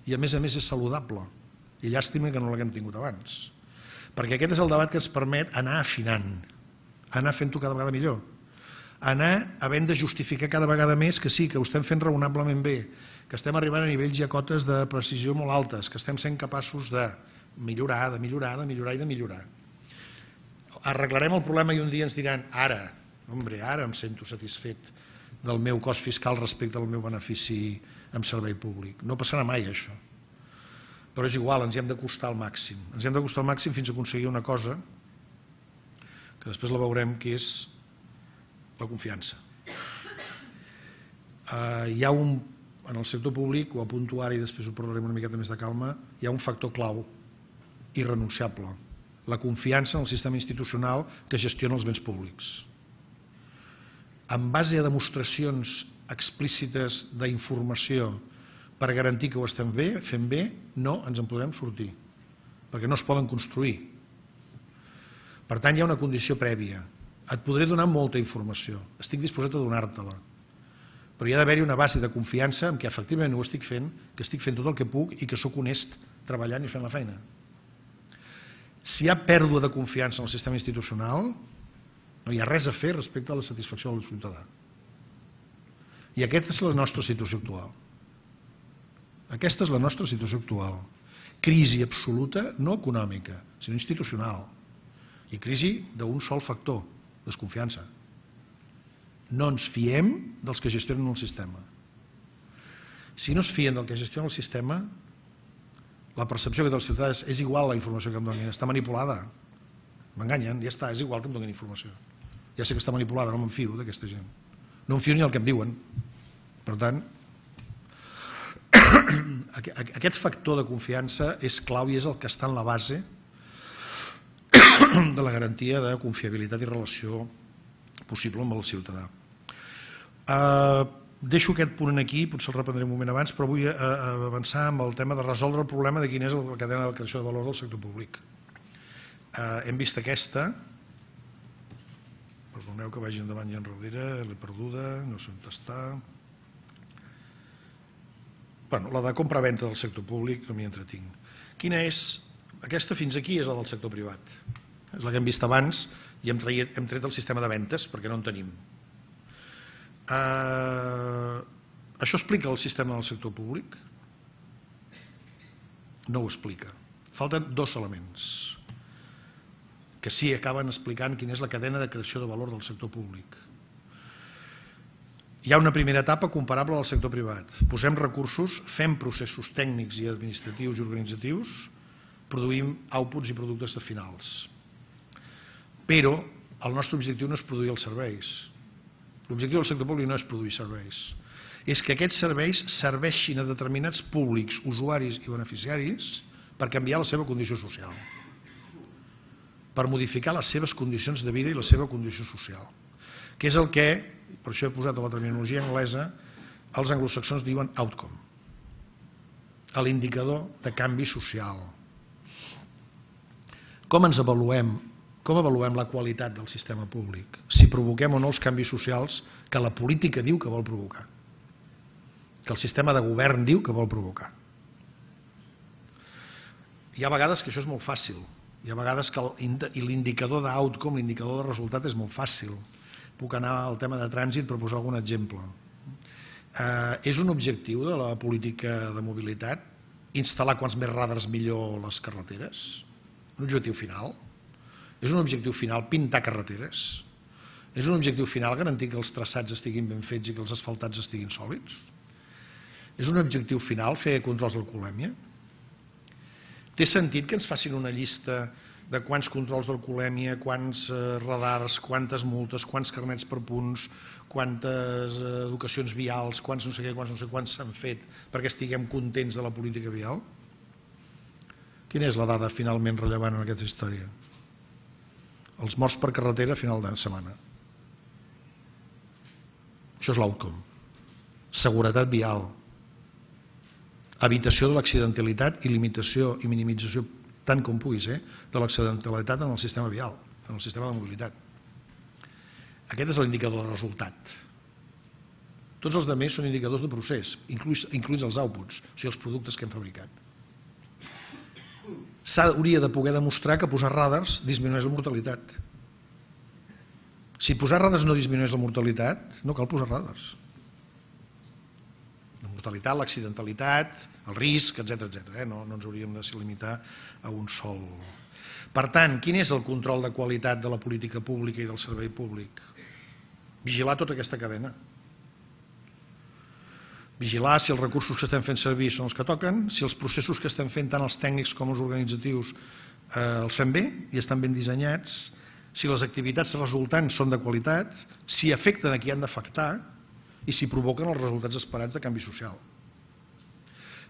[SPEAKER 1] i a més és saludable. I llàstima que no l'haguem tingut abans. Perquè aquest és el debat que ens permet anar afinant, anar fent-ho cada vegada millor, anar havent de justificar cada vegada més que sí, que ho estem fent raonablement bé, que estem arribant a nivells i a cotes de precisió molt altes, que estem sent capaços de millorar, de millorar, de millorar i de millorar. Arreglarem el problema i un dia ens diran ara em sento satisfet del meu cost fiscal respecte al meu benefici en servei públic. No passarà mai això. Però és igual, ens hi hem d'acostar al màxim. Ens hi hem d'acostar al màxim fins a aconseguir una cosa que després la veurem, que és la confiança. Hi ha en el sector públic, ho apunto ara i després ho parlarem una miqueta més de calma, hi ha un factor clau, irrenunciable, la confiança en el sistema institucional que gestiona els béns públics. En base a demostracions explícites d'informació per garantir que ho estem fent bé, no ens en podrem sortir, perquè no es poden construir. Per tant, hi ha una condició prèvia. Et podré donar molta informació, estic disposat a donar-te-la, però hi ha d'haver-hi una base de confiança en què efectivament ho estic fent, que estic fent tot el que puc i que sóc honest treballant i fent la feina. Si hi ha pèrdua de confiança en el sistema institucional, no hi ha res a fer respecte a la satisfacció del ciutadà. I aquesta és la nostra situació actual. Aquesta és la nostra situació actual. Crisi absoluta, no econòmica, sinó institucional. I crisi d'un sol factor, desconfiança. No ens fiem dels que gestionen el sistema. Si no es fien del que gestiona el sistema, la percepció que té el ciutadà és igual la informació que em donin, està manipulada. M'enganyen, ja està, és igual que em donin informació. Ja sé que està manipulada, no me'n fio d'aquesta gent. No em fio ni el que em diuen. Per tant, aquest factor de confiança és clau i és el que està en la base de la garantia de confiabilitat i relació possible amb el ciutadà. Deixo aquest punt aquí, potser el reprendré un moment abans, però vull avançar amb el tema de resoldre el problema de quina és la cadena de creació de valor del sector públic. Hem vist aquesta, perdoneu que vagi endavant i enrere, l'he perduda, no sé on està. La de compra-venta del sector públic, no m'hi entretinc. Quina és? Aquesta fins aquí és la del sector privat. És la que hem vist abans i hem tret el sistema de ventes perquè no en tenim. Això explica el sistema del sector públic? No ho explica. Falten dos elements que sí acaben explicant quina és la cadena de creació de valor del sector públic. Hi ha una primera etapa comparable al sector privat. Posem recursos, fem processos tècnics i administratius i organitzatius, produïm outputs i productes finals. Però el nostre objectiu no és produir els serveis. L'objectiu del sector públic no és produir serveis. És que aquests serveis serveixin a determinats públics, usuaris i beneficiaris per canviar la seva condició social, per modificar les seves condicions de vida i la seva condició social, que és el que, per això he posat a la terminologia anglesa, els anglosaxons diuen outcome, l'indicador de canvi social. Com ens avaluem? Com avaluem la qualitat del sistema públic? Si provoquem o no els canvis socials que la política diu que vol provocar, que el sistema de govern diu que vol provocar. Hi ha vegades que això és molt fàcil, hi ha vegades que l'indicador d'outcome, l'indicador de resultat és molt fàcil. Puc anar al tema de trànsit per posar algun exemple. És un objectiu de la política de mobilitat instal·lar quants més radars millor les carreteres? Un objectiu final? És un objectiu final pintar carreteres? És un objectiu final garantir que els traçats estiguin ben fets i que els asfaltats estiguin sòlids? És un objectiu final fer controls d'alcoholèmia? Té sentit que ens facin una llista de quants controls d'alcoholèmia, quants radars, quantes multes, quants carnets per punts, quantes educacions vials, quants no sé què, quants no sé quants s'han fet perquè estiguem contents de la política vial? Quina és la dada finalment rellevant en aquesta història? Els morts per carretera a final de setmana. Això és l'outcome. Seguretat vial. Evitació de l'accidentalitat i limitació i minimització, tant com pugui ser, de l'accidentalitat en el sistema vial, en el sistema de mobilitat. Aquest és l'indicador de resultat. Tots els altres són indicadors de procés, incluïts els outputs, o sigui, els productes que hem fabricat. S'hauria de poder demostrar que posar radars disminueix la mortalitat. Si posar radars no disminueix la mortalitat, no cal posar radars. La mortalitat, l'accidentalitat, el risc, etc. No ens hauríem de limitar a un sol. Per tant, quin és el control de qualitat de la política pública i del servei públic? Vigilar tota aquesta cadena. Vigilar si els recursos que estem fent servir són els que toquen, si els processos que estem fent, tant els tècnics com els organitzatius, els fem bé i estan ben dissenyats, si les activitats resultants són de qualitat, si afecten a qui han d'afectar i si provoquen els resultats esperats de canvi social.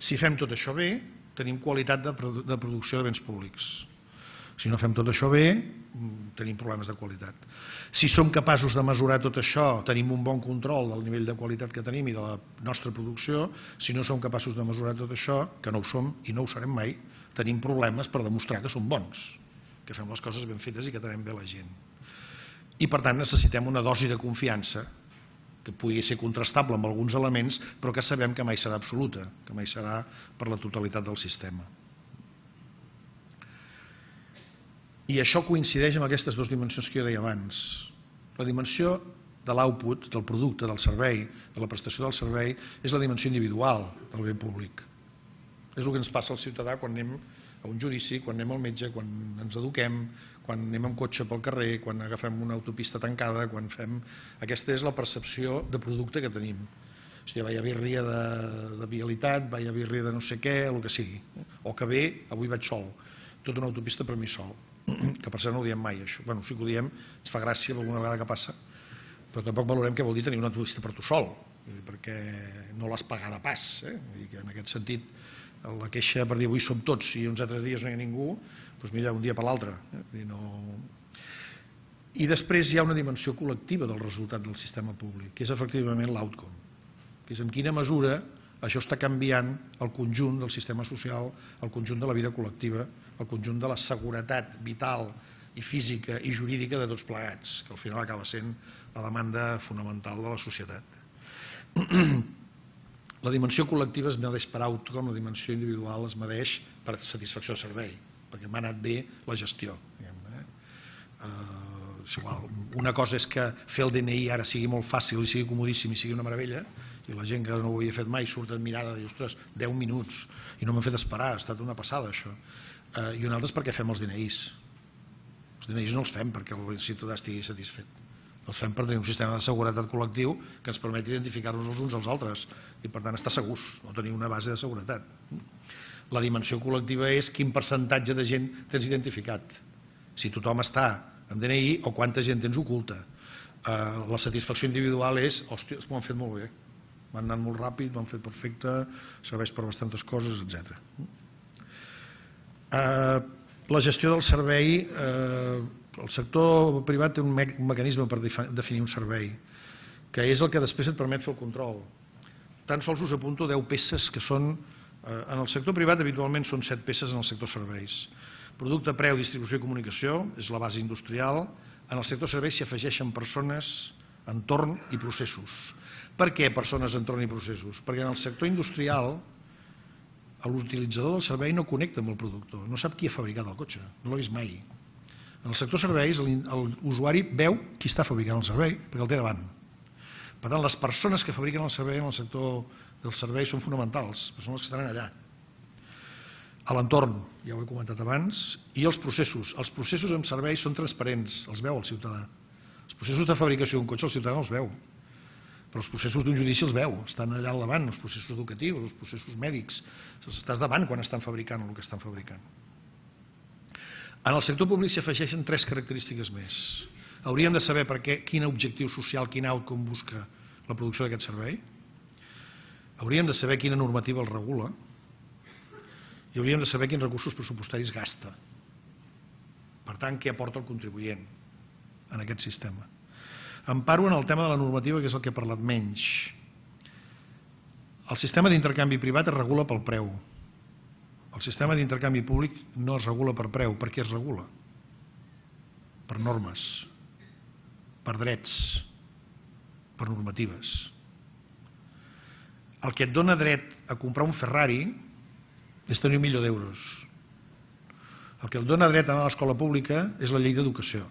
[SPEAKER 1] Si fem tot això bé, tenim qualitat de producció de béns públics. Si no fem tot això bé, tenim problemes de qualitat. Si som capaços de mesurar tot això, tenim un bon control del nivell de qualitat que tenim i de la nostra producció. Si no som capaços de mesurar tot això, que no ho som i no ho serem mai, tenim problemes per demostrar que som bons, que que fem les coses ben fetes i que atenem bé la gent. I per tant necessitem una dosi de confiança que pugui ser contrastable amb alguns elements, però que sabem que mai serà absoluta, que mai serà per la totalitat del sistema. I això coincideix amb aquestes dues dimensions que jo deia abans. La dimensió de l'output, del producte, del servei, de la prestació del servei, és la dimensió individual del bé públic. És el que ens passa al ciutadà quan anem a un judici, quan anem al metge, quan ens eduquem, quan anem amb cotxe pel carrer, quan agafem una autopista tancada, quan fem... Aquesta és la percepció de producte que tenim. O sigui, vaya birria de vialitat, vaya birria de no sé què, el que sigui. O que bé, avui vaig sol. Tota una autopista per mi sol. Que per cert no ho diem mai, això. Bueno, sí que ho diem, ens fa gràcia alguna vegada que passa, però tampoc valorem què vol dir tenir una autopista per tu sol, perquè no l'has pagada pas. Vull dir que en aquest sentit, la queixa per dir avui som tots i uns altres dies no hi ha ningú, doncs mira, un dia per l'altre. I després hi ha una dimensió col·lectiva del resultat del sistema públic, que és efectivament l'outcome, que és en quina mesura això està canviant el conjunt del sistema social, el conjunt de la vida col·lectiva, el conjunt de la seguretat vital i física i jurídica de tots plegats, que al final acaba sent la demanda fonamental de la societat. La dimensió col·lectiva es medeix per outcome, la dimensió individual es medeix per satisfacció de servei, perquè m'ha anat bé la gestió. Una cosa és que fer el DNI ara sigui molt fàcil i sigui comodíssim i sigui una meravella, i la gent que no ho havia fet mai surt admirada i diu, ostres, 10 minuts i no m'han fet esperar, ha estat una passada això. I una altra és perquè fem els DNIs. Els DNIs no els fem perquè el ciutadà estigui satisfet. Els fem per tenir un sistema de seguretat col·lectiu que ens permeti identificar-nos els uns als altres i per tant estar segurs o tenir una base de seguretat. La dimensió col·lectiva és quin percentatge de gent tens identificat. Si tothom està amb DNI o quanta gent tens oculta. La satisfacció individual és, hòstia, m'ho han fet molt bé, m'han anat molt ràpid, m'han fet perfecte, serveix per bastantes coses, etc. La gestió del servei, el sector privat té un mecanisme per definir un servei, que és el que després et permet fer el control. Tan sols us apunto 10 peces que són, en el sector privat habitualment són 7 peces en el sector serveis. Producte, preu, distribució i comunicació, és la base industrial. En el sector serveis s'hi afegeixen persones, entorn i processos. Per què persones, entorn i processos? Perquè en el sector industrial l'utilitzador del servei no connecta amb el productor, no sap qui ha fabricat el cotxe, no l'ha vist mai. En el sector serveis l'usuari veu qui està fabricant el servei perquè el té davant. Per tant, les persones que fabriquen el servei en el sector dels serveis són fonamentals, són les que estan allà. A l'entorn, ja ho he comentat abans, i els processos. Els processos en serveis són transparents, els veu el ciutadà. Els processos de fabricació d'un cotxe el ciutadà no els veu, però els processos d'un judici els veu, estan allà al davant, els processos educatius, els processos mèdics, estàs davant quan estan fabricant el que estan fabricant. En el sector públic s'hi afegeixen 3 característiques més. Hauríem de saber quin objectiu social, quin outcome busca la producció d'aquest servei. Hauríem de saber quina normativa el regula i hauríem de saber quins recursos pressupostaris gasta. Per tant, què aporta el contribuent en aquest sistema. Em paro en el tema de la normativa, que és el que he parlat menys. El sistema d'intercanvi privat es regula pel preu. El sistema d'intercanvi públic no es regula per preu. Per què es regula? Per normes, per drets, per normatives. El que et dona dret a comprar un Ferrari és tenir €1.000.000. El que et dona dret a anar a l'escola pública és la llei d'educació.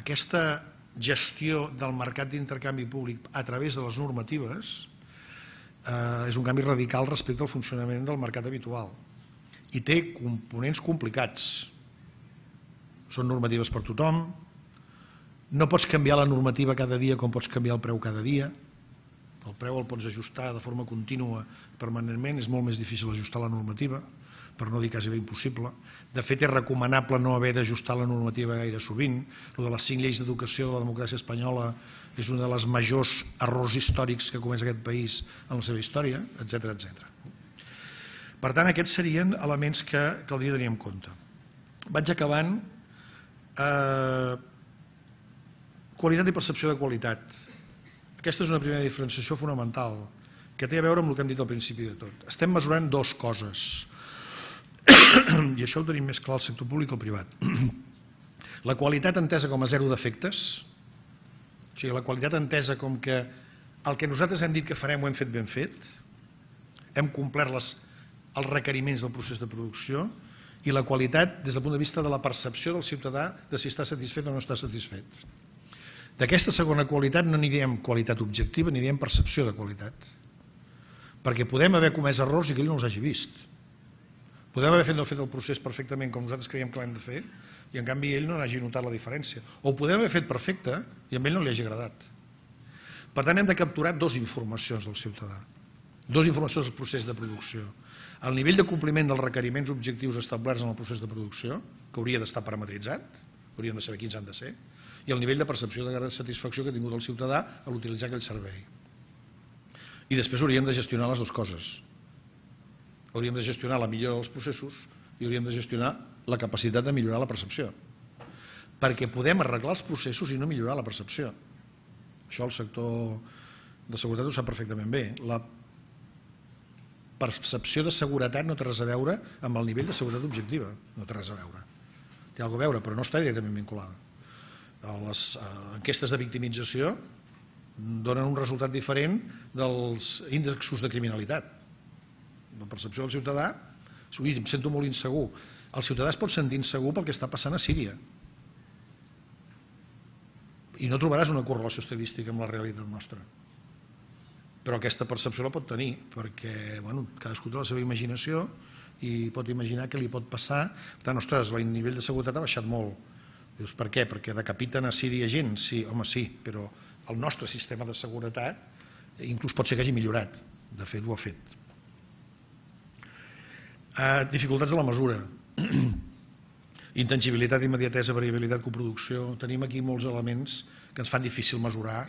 [SPEAKER 1] Aquesta gestió del mercat d'intercanvi públic a través de les normatives és un canvi radical respecte al funcionament del mercat habitual i té components complicats. Són normatives per tothom, no pots canviar la normativa cada dia com pots canviar el preu cada dia. El preu el pots ajustar de forma contínua permanentment, és molt més difícil ajustar la normativa, per no dir quasi bé impossible. De fet, és recomanable no haver d'ajustar la normativa gaire sovint. El de les 5 lleis d'educació de la democràcia espanyola és un dels majors errors històrics que ha comès aquest país en la seva història, etc. Per tant, aquests serien elements que caldria tenir en compte. Vaig acabant. Qualitat i percepció de qualitat. Aquesta és una primera diferenciació fonamental que té a veure amb el que hem dit al principi de tot. Estem mesurant 2 coses. i això ho tenim més clar al sector públic que al privat. La qualitat entesa com a zero defectes, o sigui, la qualitat entesa com que el que nosaltres hem dit que farem ho hem fet ben fet, hem complert els requeriments del procés de producció, i la qualitat des del punt de vista de la percepció del ciutadà de si està satisfet o no està satisfet. D'aquesta segona qualitat no n'hi diem qualitat objectiva, n'hi diem percepció de qualitat. Perquè podem haver comès errors i que ell no els hagi vist. Podem haver fet el procés perfectament com nosaltres creiem que l'hem de fer i en canvi ell no n'hagi notat la diferència. O ho podem haver fet perfecte i a ell no li hagi agradat. Per tant, hem de capturar dues informacions del ciutadà. Dues informacions del procés de producció. El nivell de compliment dels requeriments objectius establerts en el procés de producció, que hauria d'estar parametritzat, hauríem de saber quins han de ser, i el nivell de percepció de satisfacció que ha tingut el ciutadà a l'utilitzar aquell servei. I després hauríem de gestionar les dues coses. Hauríem de gestionar la millora dels processos i hauríem de gestionar la capacitat de millorar la percepció. Perquè podem arreglar els processos i no millorar la percepció. Això el sector de seguretat ho sap perfectament bé. La percepció de seguretat no té res a veure amb el nivell de seguretat objectiva. No té res a veure. Té alguna cosa a veure, però no està directament vinculada. Les enquestes de victimització donen un resultat diferent dels índexs de criminalitat. La percepció del ciutadà, em sento molt insegur. El ciutadà es pot sentir insegur pel que està passant a Síria. I no trobaràs una correlació estadística amb la realitat nostra. Però aquesta percepció la pot tenir, perquè cadascú té la seva imaginació i pot imaginar què li pot passar. Per tant, ostres, el nivell de seguretat ha baixat molt. Dius, per què? Perquè decapiten a Síria gent? Sí, home, sí, però el nostre sistema de seguretat inclús pot ser que hagi millorat. De fet, ho ha fet. Dificultats de la mesura. Intangibilitat, immediatesa, variabilitat, coproducció. Tenim aquí molts elements que ens fan difícil mesurar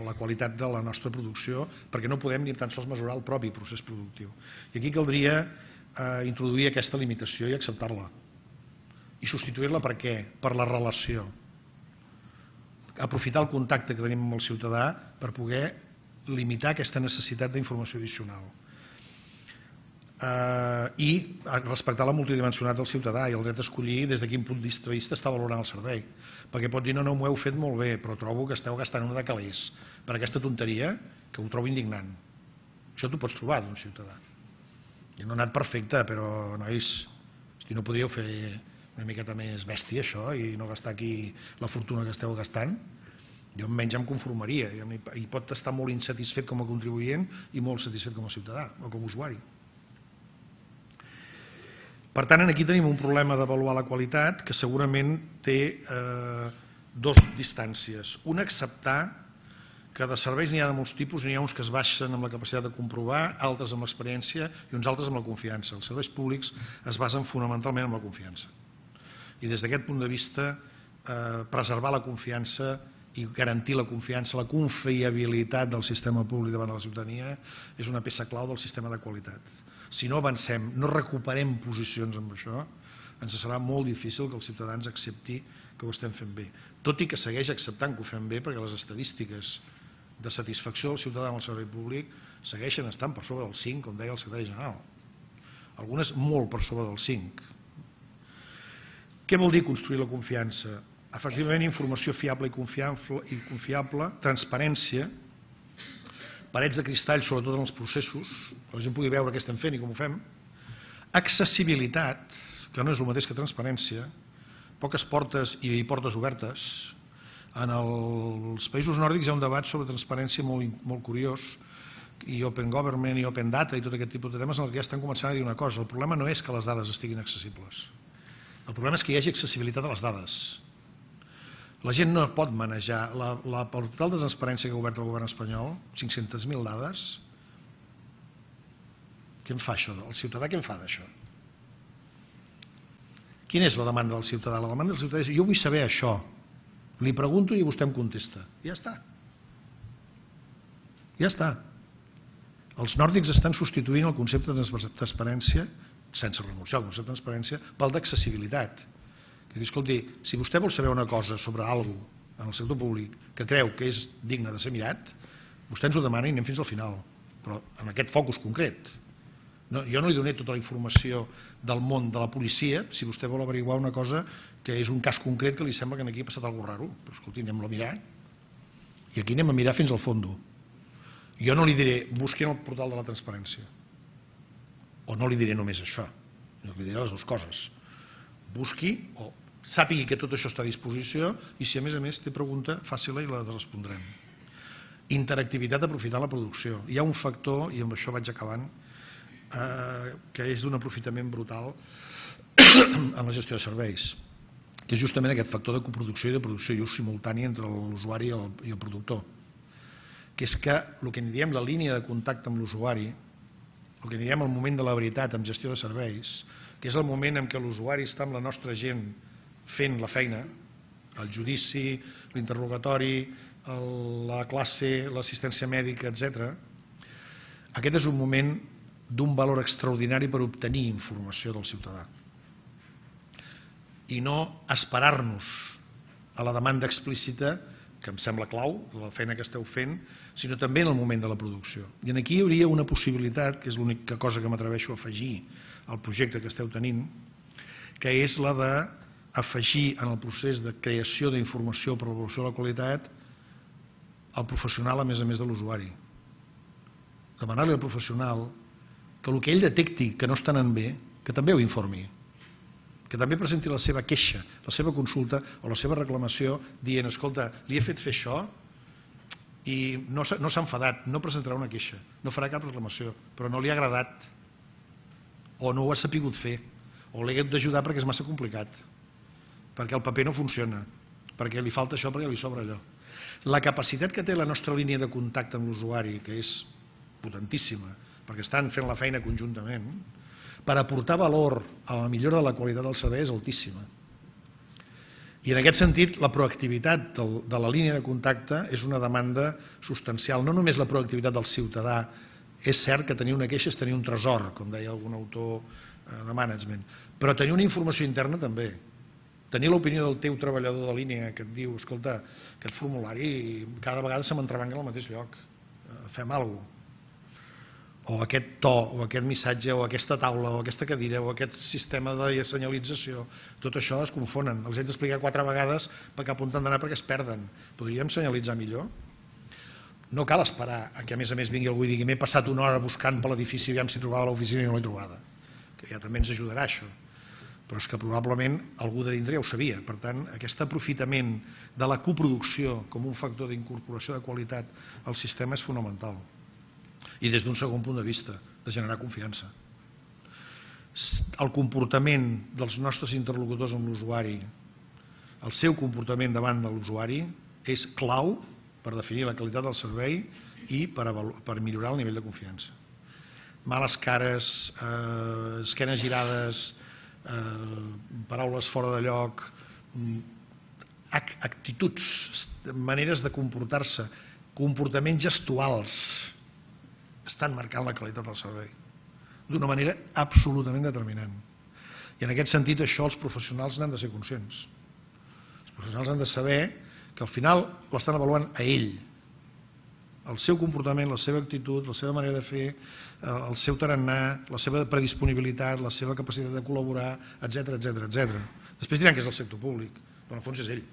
[SPEAKER 1] la qualitat de la nostra producció perquè no podem ni tan sols mesurar el propi procés productiu. I aquí caldria introduir aquesta limitació i acceptar-la. I substituir-la per què? Per la relació. Aprofitar el contacte que tenim amb el ciutadà per poder limitar aquesta necessitat d'informació addicional. I respectar la multidimensionalitat del ciutadà i el dret a escollir des de quin punt de vista està valorant el servei. Perquè pot dir, no, m'ho heu fet molt bé, però trobo que esteu gastant una de calés per aquesta tonteria que ho trobo indignant. Això t'ho pots trobar d'un ciutadà. I no ha anat perfecte, però, nois, no podríeu fer una miqueta més bèstia, això, i no gastar aquí la fortuna que esteu gastant? Jo almenys em conformaria. I pot estar molt insatisfet com a contribuent i molt satisfet com a ciutadà o com a usuari. Per tant, aquí tenim un problema d'avaluar la qualitat que segurament té dues distàncies. Una, acceptar que de serveis n'hi ha de molts tipus, n'hi ha uns que es basen amb la capacitat de comprovar, altres amb l'experiència i uns altres amb la confiança. Els serveis públics es basen fonamentalment en la confiança. I des d'aquest punt de vista, preservar la confiança i garantir la confiança, la confiabilitat del sistema públic davant de la ciutadania és una peça clau del sistema de qualitat. Si no avancem, no recuperem posicions amb això, ens serà molt difícil que els ciutadans accepti que ho estem fent bé. Tot i que segueix acceptant que ho fem bé perquè les estadístiques de satisfacció del ciutadà amb el servei públic segueixen estant per sobre del 5, com deia el secretari general. Algunes molt per sobre del 5. Què vol dir construir la confiança? Efectivament, informació fiable i confiable, transparència, parets de cristall, sobretot en els processos, que la gent pugui veure què estem fent i com ho fem, accessibilitat, que no és el mateix que transparència, poques portes i portes obertes. En els països nòrdics hi ha un debat sobre transparència molt curiós, i Open Government i Open Data i tot aquest tipus de temes en què ja estan començant a dir una cosa. El problema no és que les dades estiguin accessibles. El problema és que hi hagi accessibilitat a les dades. La gent no pot manejar. El portal de transparència que ha obert el govern espanyol, 500.000 dades, què en fa això? El ciutadà què en fa d'això? Quina és la demanda del ciutadà? La demanda del ciutadà és, jo vull saber això. Li pregunto i vostè em contesta. Ja està. Ja està. Els nòrdics estan substituint el concepte de transparència, sense renunciar al concepte de transparència, pel d'accessibilitat. És dir, escolti, si vostè vol saber una cosa sobre alguna cosa en el sector públic que creu que és digne de ser mirat, vostè ens ho demana i anem fins al final, però en aquest focus concret. Jo no li doné tota la informació del món de la policia si vostè vol averiguar una cosa que és un cas concret que li sembla que aquí ha passat alguna cosa raro. Però escolti, anem a mirar. I aquí anem a mirar fins al fons. Jo no li diré, busqui en el portal de la transparència. O no li diré només això. Jo li diré les dues coses. Busqui o sàpigui que tot això està a disposició i si a més té pregunta, faci-la i la respondrem. Interactivitat aprofitant la producció. Hi ha un factor, i amb això vaig acabant, que és d'un aprofitament brutal en la gestió de serveis, que és justament aquest factor de coproducció i de producció i ús simultani entre l'usuari i el productor, que és que el que en diem la línia de contacte amb l'usuari, el que en diem el moment de la veritat en gestió de serveis, que és el moment en què l'usuari està amb la nostra gent fent la feina, el judici, l'interrogatori, la classe, l'assistència mèdica, etc. Aquest és un moment d'un valor extraordinari per obtenir informació del ciutadà i no esperar-nos a la demanda explícita, que em sembla clau, de la feina que esteu fent, sinó també en el moment de la producció. I aquí hi hauria una possibilitat, que és l'única cosa que m'atreveixo a afegir al projecte que esteu tenint, que és la d'afegir en el procés de creació d'informació per l'avaluació de la qualitat el professional a més de l'usuari. Demanar-li al professional que el que ell detecti que no està anant bé, que també ho informi, que també presenti la seva queixa, la seva consulta o la seva reclamació dient, escolta, li he fet fer això i no s'ha enfadat, no presentarà una queixa, no farà cap reclamació, però no li ha agradat o no ho ha sapigut fer o l'he hagut d'ajudar perquè és massa complicat, perquè el paper no funciona, perquè li falta això, perquè li sobra allò. La capacitat que té la nostra línia de contacte amb l'usuari, que és potentíssima, perquè estan fent la feina conjuntament, per aportar valor a la millora de la qualitat del servei és altíssima. I en aquest sentit, la proactivitat de la línia de contacte és una demanda substancial. No només la proactivitat del ciutadà, és cert que tenir una queixa és tenir un tresor, com deia algun autor de management, però tenir una informació interna també. Tenir l'opinió del teu treballador de línia que et diu, escolta, aquest formulari cada vegada se m'entrebanca al mateix lloc, fem alguna cosa. O aquest to, o aquest missatge, o aquesta taula, o aquesta cadira, o aquest sistema de senyalització, tot això es confonen. Els haig d'explicar 4 vegades per cap on han d'anar perquè es perden. Podríem senyalitzar millor? No cal esperar a que a més vingui algú i digui m'he passat una hora buscant per l'edifici aviam si trobava l'oficina i no l'he trobada. Que ja també ens ajudarà això. Però és que probablement algú de dintre ja ho sabia. Per tant, aquest aprofitament de la coproducció com un factor d'incorporació de qualitat al sistema és fonamental. I des d'un segon punt de vista, de generar confiança. El comportament dels nostres interlocutors amb l'usuari, el seu comportament davant de l'usuari, és clau per definir la qualitat del servei i per millorar el nivell de confiança. Males cares, esquenes girades, paraules fora de lloc, actituds, maneres de comportar-se, comportaments gestuals, estan marcant la qualitat del servei d'una manera absolutament determinant. I en aquest sentit això els professionals n'han de ser conscients. Els professionals han de saber que al final l'estan avaluant a ell, el seu comportament, la seva actitud, la seva manera de fer, el seu tarannà, la seva predisponibilitat, la seva capacitat de col·laborar, etc. Després diran que és el sector públic, però en el fons és ell.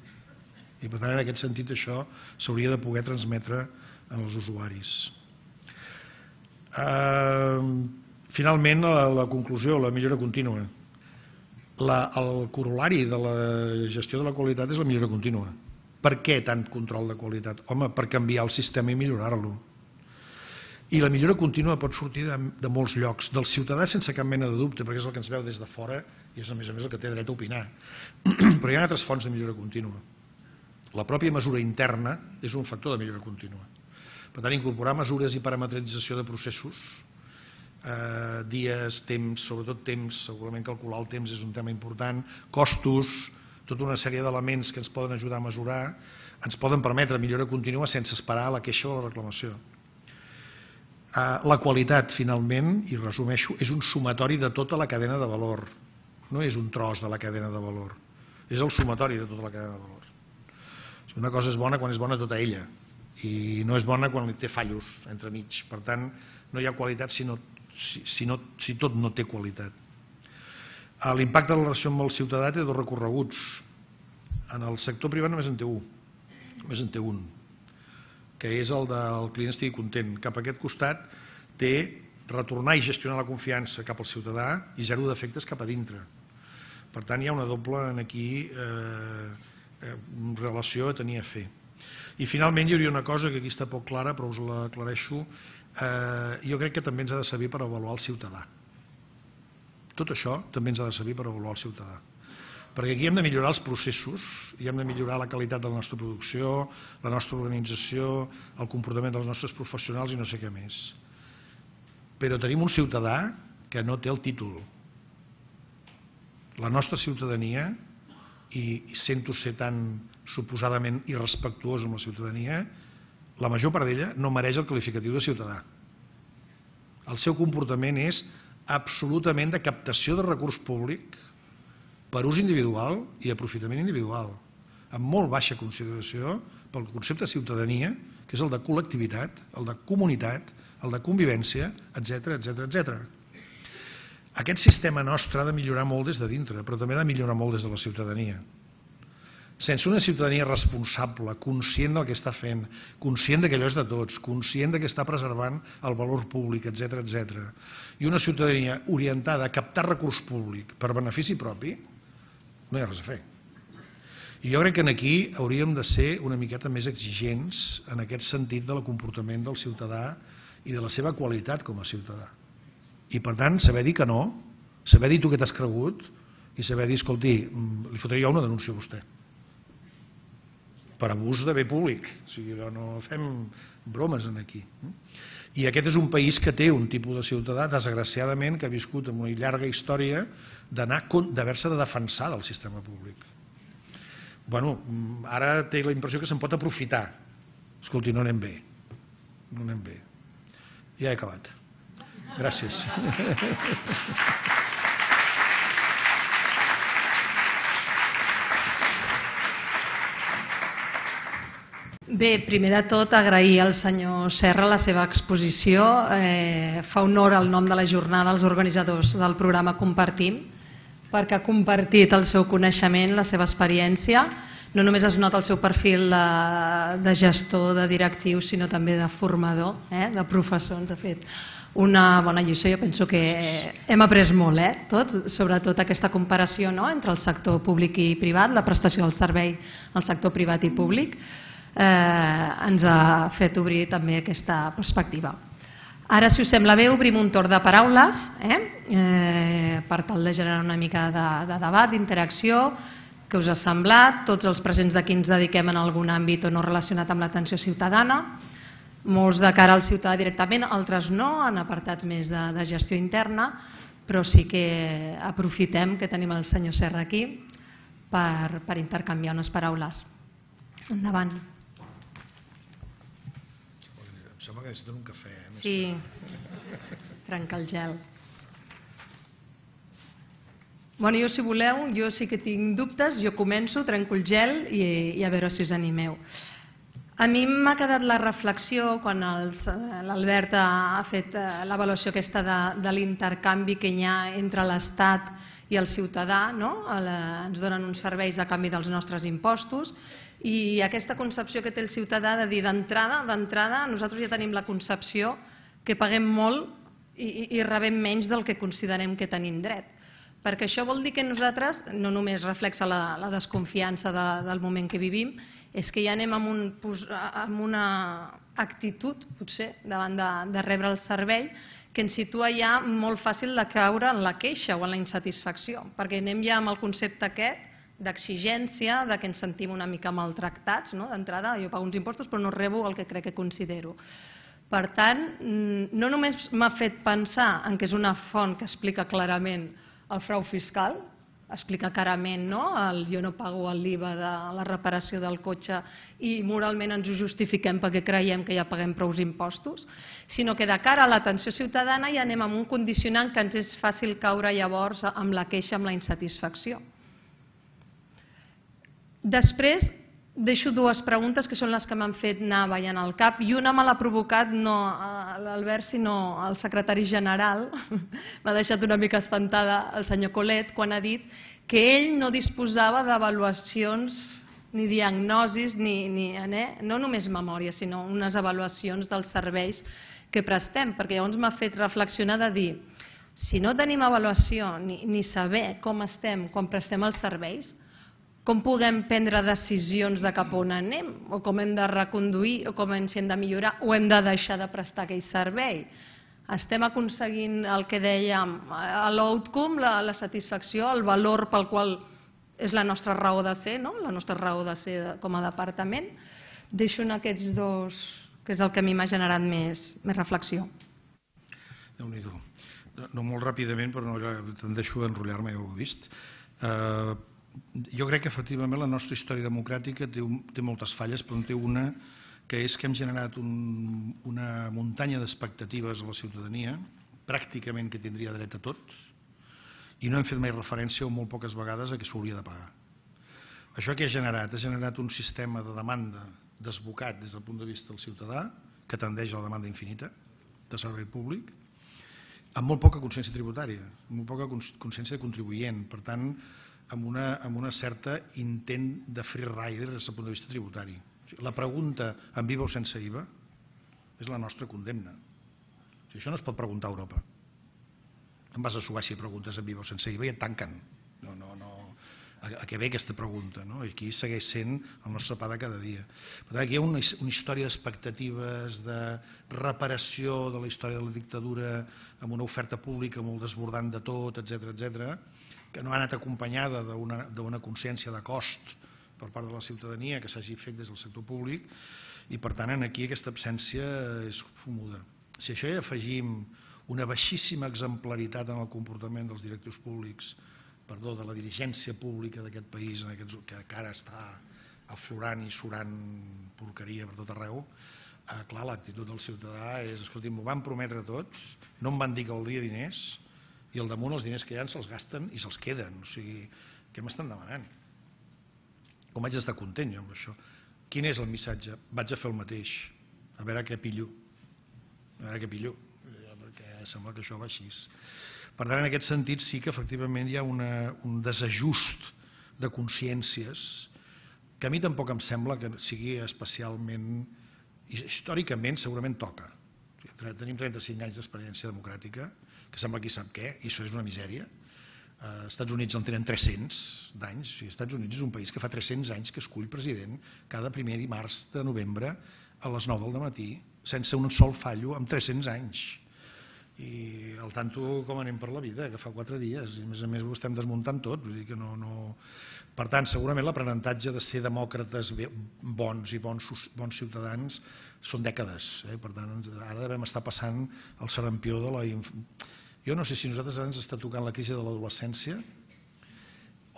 [SPEAKER 1] I per tant en aquest sentit això s'hauria de poder transmetre als usuaris. Finalment, la conclusió, la millora contínua. El corolari de la gestió de la qualitat és la millora contínua. Per què tant control de qualitat? Home, per canviar el sistema i millorar-lo. I la millora contínua pot sortir de molts llocs, del ciutadà sense cap mena de dubte, perquè és el que ens veu des de fora i és a més el que té dret a opinar. Però hi ha altres fonts de millora contínua. La pròpia mesura interna és un factor de millora contínua. Per tant, incorporar mesures i parametrització de processos, dies, temps, sobretot temps, segurament calcular el temps és un tema important, costos, tota una sèrie d'elements que ens poden ajudar a mesurar, ens poden permetre millora contínua sense esperar la queixa o la reclamació. La qualitat, finalment, i resumeixo, és un sumatori de tota la cadena de valor. No és un tros de la cadena de valor, és el sumatori de tota la cadena de valor. Una cosa és bona quan és bona tota ella, i no és bona quan té fallos entremig. Per tant, no hi ha qualitat si no si tot no té qualitat. L'impacte de la relació amb el ciutadà té dos recorreguts. En el sector privat només en té un, que és el del client estigui content. Cap a aquest costat té retornar i gestionar la confiança cap al ciutadà i zero defectes cap a dintre. Per tant, hi ha una doble aquí relació a tenir a fer. I finalment hi hauria una cosa que aquí està poc clara, però us l'aclareixo. Jo crec que també ens ha de servir per avaluar el ciutadà. Tot això també ens ha de servir per avaluar el ciutadà. Perquè aquí hem de millorar els processos, i hem de millorar la qualitat de la nostra producció, la nostra organització, el comportament dels nostres professionals i no sé què més. Però tenim un ciutadà que no té el títol. La nostra ciutadania, i sento ser tan suposadament irrespectuós amb la ciutadania, la major part d'ella no mereix el qualificatiu de ciutadà. El seu comportament és absolutament de captació de recurs públic per ús individual i aprofitament individual, amb molt baixa consideració pel concepte de ciutadania, que és el de col·lectivitat, el de comunitat, el de convivència, etc. Aquest sistema nostre ha de millorar molt des de dintre, però també ha de millorar molt des de la ciutadania. Sense una ciutadania responsable, conscient del que està fent, conscient que allò és de tots, conscient que està preservant el valor públic, etc., i una ciutadania orientada a captar recurs públic per benefici propi, no hi ha res a fer. I jo crec que aquí hauríem de ser una miqueta més exigents en aquest sentit del comportament del ciutadà i de la seva qualitat com a ciutadà. I per tant, saber dir que no, saber dir tu què t'has cregut i saber dir, escolti, li fotria jo una denúncia a vostè per abús de bé públic. O sigui, no fem bromes aquí. I aquest és un país que té un tipus de ciutadà, desgraciadament, que ha viscut en una llarga història d'haver-se de defensar del sistema públic. Bueno, ara té la impressió que se'n pot aprofitar. Escolti, no anem bé. No anem bé. Ja he acabat. Gràcies.
[SPEAKER 2] Bé, primer de tot agrair al senyor Serra la seva exposició. Fa honor al nom de la jornada als organitzadors del programa Compartim, perquè ha compartit el seu coneixement, la seva experiència. No només es nota el seu perfil de gestor, de directiu, sinó també de formador, de professor. Ens ha fet una bona lliçó. Jo penso que hem après molt, tots, sobretot aquesta comparació entre el sector públic i privat, la prestació del servei al sector privat i públic. Ens ha fet obrir també aquesta perspectiva. Ara, si us sembla bé, obrim un torn de paraules per tal de generar una mica de debat, d'interacció. Què us ha semblat? Tots els presents d'aquí ens dediquem en algun àmbit o no relacionat amb l'atenció ciutadana. Molts de cara al ciutadà directament, altres no, en apartats més de gestió interna, però sí que aprofitem que tenim el senyor Serra aquí per intercanviar unes paraules. Endavant.
[SPEAKER 1] Em sembla que necessiten un cafè.
[SPEAKER 2] Sí, trenca el gel. Bueno, jo si voleu, jo sí que tinc dubtes, jo començo, trenco el gel i a veure si us animeu. A mi m'ha quedat la reflexió quan l'Albert ha fet l'avaluació aquesta de l'intercanvi que hi ha entre l'Estat i el ciutadà, ens donen uns serveis a canvi dels nostres impostos, i aquesta concepció que té el ciutadà de dir d'entrada, nosaltres ja tenim la concepció que paguem molt i rebem menys del que considerem que tenim dret. Perquè això vol dir que nosaltres, no només reflexa la desconfiança del moment que vivim, és que ja anem amb una actitud, potser, davant de rebre el servei, que ens situa ja molt fàcil de caure en la queixa o en la insatisfacció, perquè anem ja amb el concepte aquest d'exigència, que ens sentim una mica maltractats, d'entrada, jo pago uns impostos però no rebo el que crec que considero. Per tant, no només m'ha fet pensar en que és una font que explica clarament el frau fiscal, explica clarament el jo no pago l'IVA de la reparació del cotxe i moralment ens ho justifiquem perquè creiem que ja paguem prou impostos, sinó que de cara a l'atenció ciutadana ja anem amb un condicionant que ens és fàcil caure llavors amb la queixa, amb la insatisfacció. Després deixo dues preguntes que són les que m'han fet anar ballant al cap i una me l'ha provocat l'Albert, sinó el secretari general. M'ha deixat una mica espantada el senyor Colet quan ha dit que ell no disposava d'avaluacions ni diagnosis, no només memòria, sinó unes avaluacions dels serveis que prestem, perquè llavors m'ha fet reflexionar de dir, si no tenim avaluació ni saber com estem quan prestem els serveis, com podem prendre decisions de cap on anem, o com hem de reconduir, o si hem de millorar, o hem de deixar de prestar aquell servei? Estem aconseguint el que dèiem, l'outcome, la satisfacció, el valor pel qual és la nostra raó de ser, la nostra raó de ser com a departament? Deixo en aquests dos, que és el que a mi m'ha generat més reflexió.
[SPEAKER 1] Déu-n'hi-do. No molt ràpidament, però te'n deixo d'enrotllar-me, ja ho he vist. Jo crec que efectivament la nostra història democràtica té moltes falles, però en té una que és que hem generat una muntanya d'expectatives a la ciutadania, pràcticament que tindria dret a tot, i no hem fet mai referència o molt poques vegades a què s'hauria de pagar. Això què ha generat? Ha generat un sistema de demanda desbocat des del punt de vista del ciutadà, que tendeix a la demanda infinita de servei públic, amb molt poca consciència tributària, amb molt poca consciència de contribuent, per tant, amb una certa intent de free rider des del punt de vista tributari. La pregunta amb IVA o sense IVA és la nostra condemna. Això no es pot preguntar a Europa. Em vas a Suècia i preguntes amb IVA o sense IVA i et tanquen. A què ve aquesta pregunta? Aquí segueix sent el nostre pa de cada dia. Per tant, aquí hi ha una història d'expectatives, de reparació de la història de la dictadura amb una oferta pública molt desbordant de tot, etc., que no ha anat acompanyada d'una consciència de cost per part de la ciutadania que s'hagi fet des del sector públic, i per tant aquí aquesta absència és fumuda. Si a això hi afegim una baixíssima exemplaritat en el comportament dels directius públics, de la dirigència pública d'aquest país, que ara està aflorant i surant porqueria per tot arreu, clar, l'actitud del ciutadà és, escolti, m'ho van prometre tots, no em van dir que valdria diners, i al damunt els diners que hi ha se'ls gasten i se'ls queden. O sigui, què m'estan demanant? Com haig d'estar content jo amb això? Quin és el missatge? Vaig a fer el mateix, a veure què pillo. A veure què pillo, perquè sembla que això va així. Per tant, en aquest sentit sí que efectivament hi ha un desajust de consciències que a mi tampoc em sembla que sigui especialment... Històricament segurament toca. Tenim 35 anys d'experiència democràtica, que sembla qui sap què, i això és una misèria. Els Estats Units en tenen 300 d'anys. Els Estats Units és un país que fa 300 anys que escull president cada primer dimarts de novembre a les 9 del matí, sense un sol fallo, en 300 anys. I al tanto com anem per la vida, que fa 4 dies, i a més ho estem desmuntant tot. Vull dir que no... Per tant, segurament l'aprenentatge de ser demòcrates bons i bons ciutadans són dècades. Per tant, ara devem estar passant el sarampió de la... Jo no sé si nosaltres ara ens està tocant la crisi de l'adolescència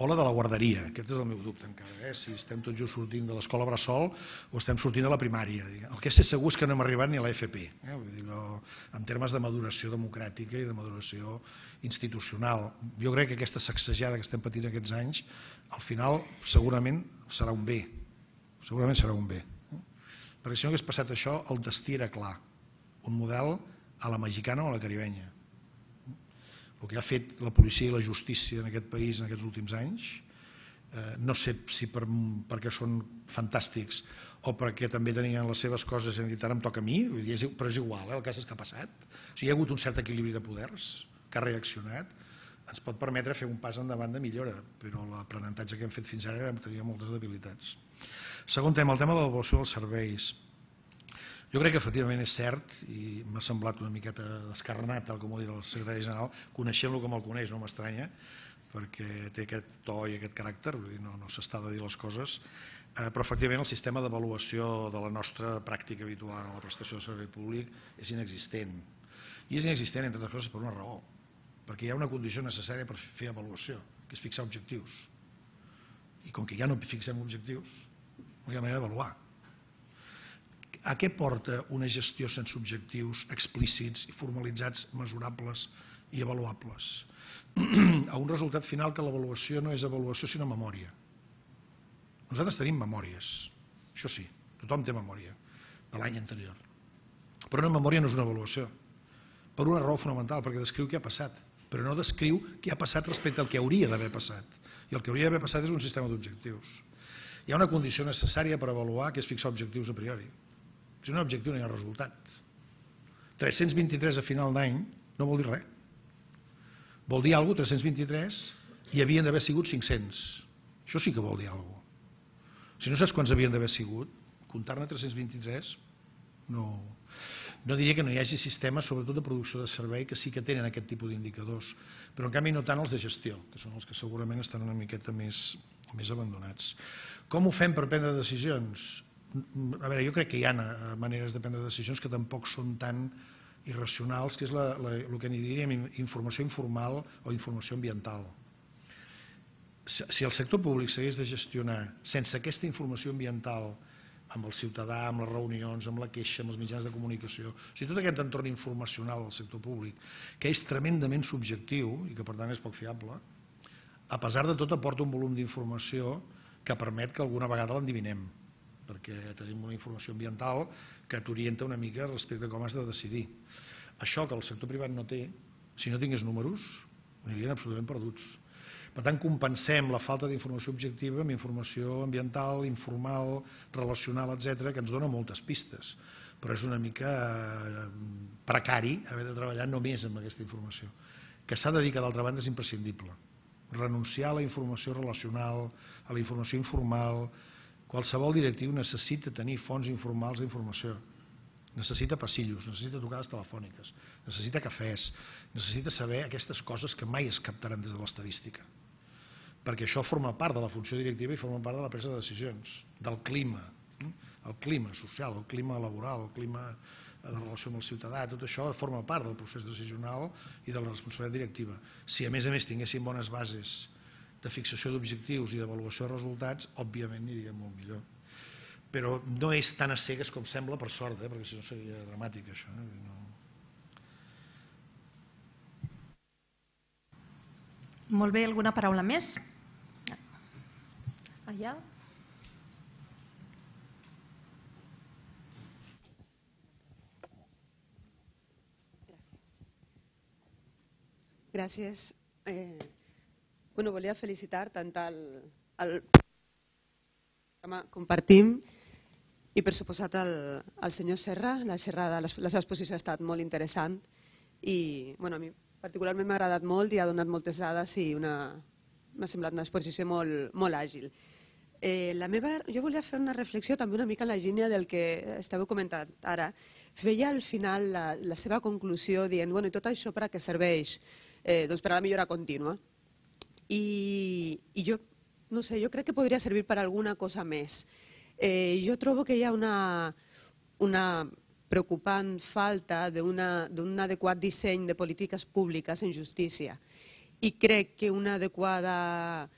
[SPEAKER 1] o la de la guarderia. Aquest és el meu dubte encara, si estem tots just sortint de l'escola bressol o estem sortint de la primària. El que sé segur és que no hem arribat ni a l'FP, en termes de maduració democràtica i de maduració institucional. Jo crec que aquesta sacsejada que estem patint aquests anys, al final segurament serà un bé. Segurament serà un bé. Perquè si no hagués passat això, el destí era clar. Un model a la mexicana o a la caribenya. El que ha fet la policia i la justícia en aquest país en aquests últims anys, no sé si perquè són fantàstics o perquè també tenien les seves coses i han dit ara em toca a mi, però és igual, el cas és que ha passat. O sigui, hi ha hagut un cert equilibri de poders que ha reaccionat, ens pot permetre fer un pas endavant de millora, però l'aprenentatge que hem fet fins ara tenia moltes debilitats. Segon tema, el tema de l'avaluació dels serveis. Jo crec que efectivament és cert, i m'ha semblat una miqueta descarnat, tal com ho ha dit el secretari general, coneixent-lo com el coneix, no m'estranya, perquè té aquest to i aquest caràcter, no s'està de dir les coses, però efectivament el sistema d'avaluació de la nostra pràctica habitual en la prestació de servei públic és inexistent. I és inexistent, entre altres coses, per una raó, perquè hi ha una condició necessària per fer avaluació, que és fixar objectius. I com que ja no fixem objectius, no hi ha manera d'avaluar. A què porta una gestió sense objectius explícits i formalitzats, mesurables i avaluables? A un resultat final que l'avaluació no és avaluació sinó memòria. Nosaltres tenim memòries, això sí, tothom té memòria de l'any anterior. Però una memòria no és una avaluació, per una raó fonamental, perquè descriu què ha passat, però no descriu què ha passat respecte al que hauria d'haver passat. I el que hauria d'haver passat és un sistema d'objectius. Hi ha una condició necessària per avaluar, que és fixar objectius a priori. Si no hi ha objectiu no hi ha resultat. 323 a final d'any no vol dir res. Vol dir alguna cosa, 323, i havien d'haver sigut 500. Això sí que vol dir alguna cosa. Si no saps quants havien d'haver sigut, comptar-ne 323 no diria que no hi hagi sistemes, sobretot de producció de servei, que sí que tenen aquest tipus d'indicadors, però en canvi no tant els de gestió, que són els que segurament estan una miqueta més abandonats. Com ho fem per prendre decisions? A veure, jo crec que hi ha maneres de prendre decisions que tampoc són tan irracionals, que és el que n'hi diríem informació informal o informació ambiental. Si el sector públic s'hagués de gestionar sense aquesta informació ambiental amb el ciutadà, amb les reunions, amb la queixa, amb els mitjans de comunicació, o sigui, tot aquest entorn informacional del sector públic, que és tremendament subjectiu i que per tant és poc fiable, a pesar de tot aporta un volum d'informació que permet que alguna vegada l'endivinem, perquè tenim una informació ambiental que t'orienta una mica respecte a com has de decidir. Això que el sector privat no té, si no tingués números, anirien absolutament perduts. Per tant, compensem la falta d'informació objectiva amb informació ambiental, informal, relacional, etc., que ens dona moltes pistes. Però és una mica precari haver de treballar només amb aquesta informació. Que s'ha de dir que, d'altra banda, és imprescindible. Renunciar a la informació relacional, a la informació informal. Qualsevol directiu necessita tenir fonts informals d'informació. Necessita passillos, necessita trucades telefòniques, necessita cafès, necessita saber aquestes coses que mai es captaran des de l'estadística. Perquè això forma part de la funció directiva i forma part de la presa de decisions, del clima, el clima social, el clima laboral, el clima de relació amb el ciutadà, tot això forma part del procés decisional i de la responsabilitat directiva. Si a més tinguéssim bones bases de fixació d'objectius i d'avaluació de resultats, òbviament aniria molt millor. Però no és tan a cegues com sembla, per sort, perquè si no seria dramàtic això.
[SPEAKER 2] Molt bé, alguna paraula més? Allà.
[SPEAKER 3] Gràcies. Volia felicitar tant el programa Compartim i, per suposat, el senyor Serra. La seva exposició ha estat molt interessant i a mi particularment m'ha agradat molt i ha donat moltes dades i m'ha semblat una exposició molt àgil. Jo volia fer una reflexió també una mica en la línia del que estàveu comentant ara. Feia al final la seva conclusió dient i tot això per a què serveix? Doncs per a la millora contínua. I jo, no sé, jo crec que podria servir per alguna cosa més. Jo trobo que hi ha una preocupant falta d'un adequat disseny de polítiques públiques en justícia. I crec que unes adequades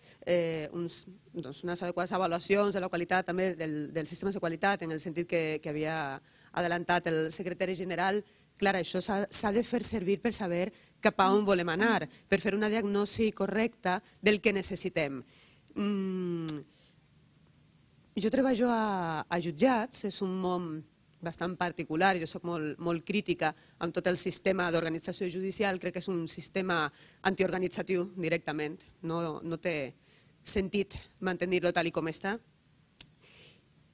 [SPEAKER 3] avaluacions de la qualitat també dels sistemes de qualitat, en el sentit que havia adelantat el secretari general, clar, això s'ha de fer servir per saber cap a on volem anar, per fer una diagnosi correcta del que necessitem. Jo treballo a jutjats, és un món bastant particular, jo soc molt crítica amb tot el sistema d'organització judicial, crec que és un sistema antiorganitzatiu directament, no té sentit mantenir-lo tal com està.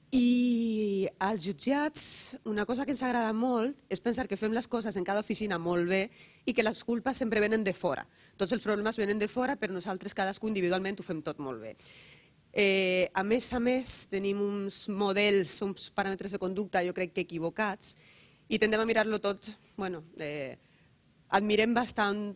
[SPEAKER 3] I als jutjats una cosa que ens agrada molt és pensar que fem les coses en cada oficina molt bé i que les culpes sempre venen de fora. Tots els problemes venen de fora, però nosaltres cadascú individualment ho fem tot molt bé. A més, tenim uns models, uns paràmetres de conducta, jo crec que equivocats, i tendem a mirar-lo tot, admirem bastant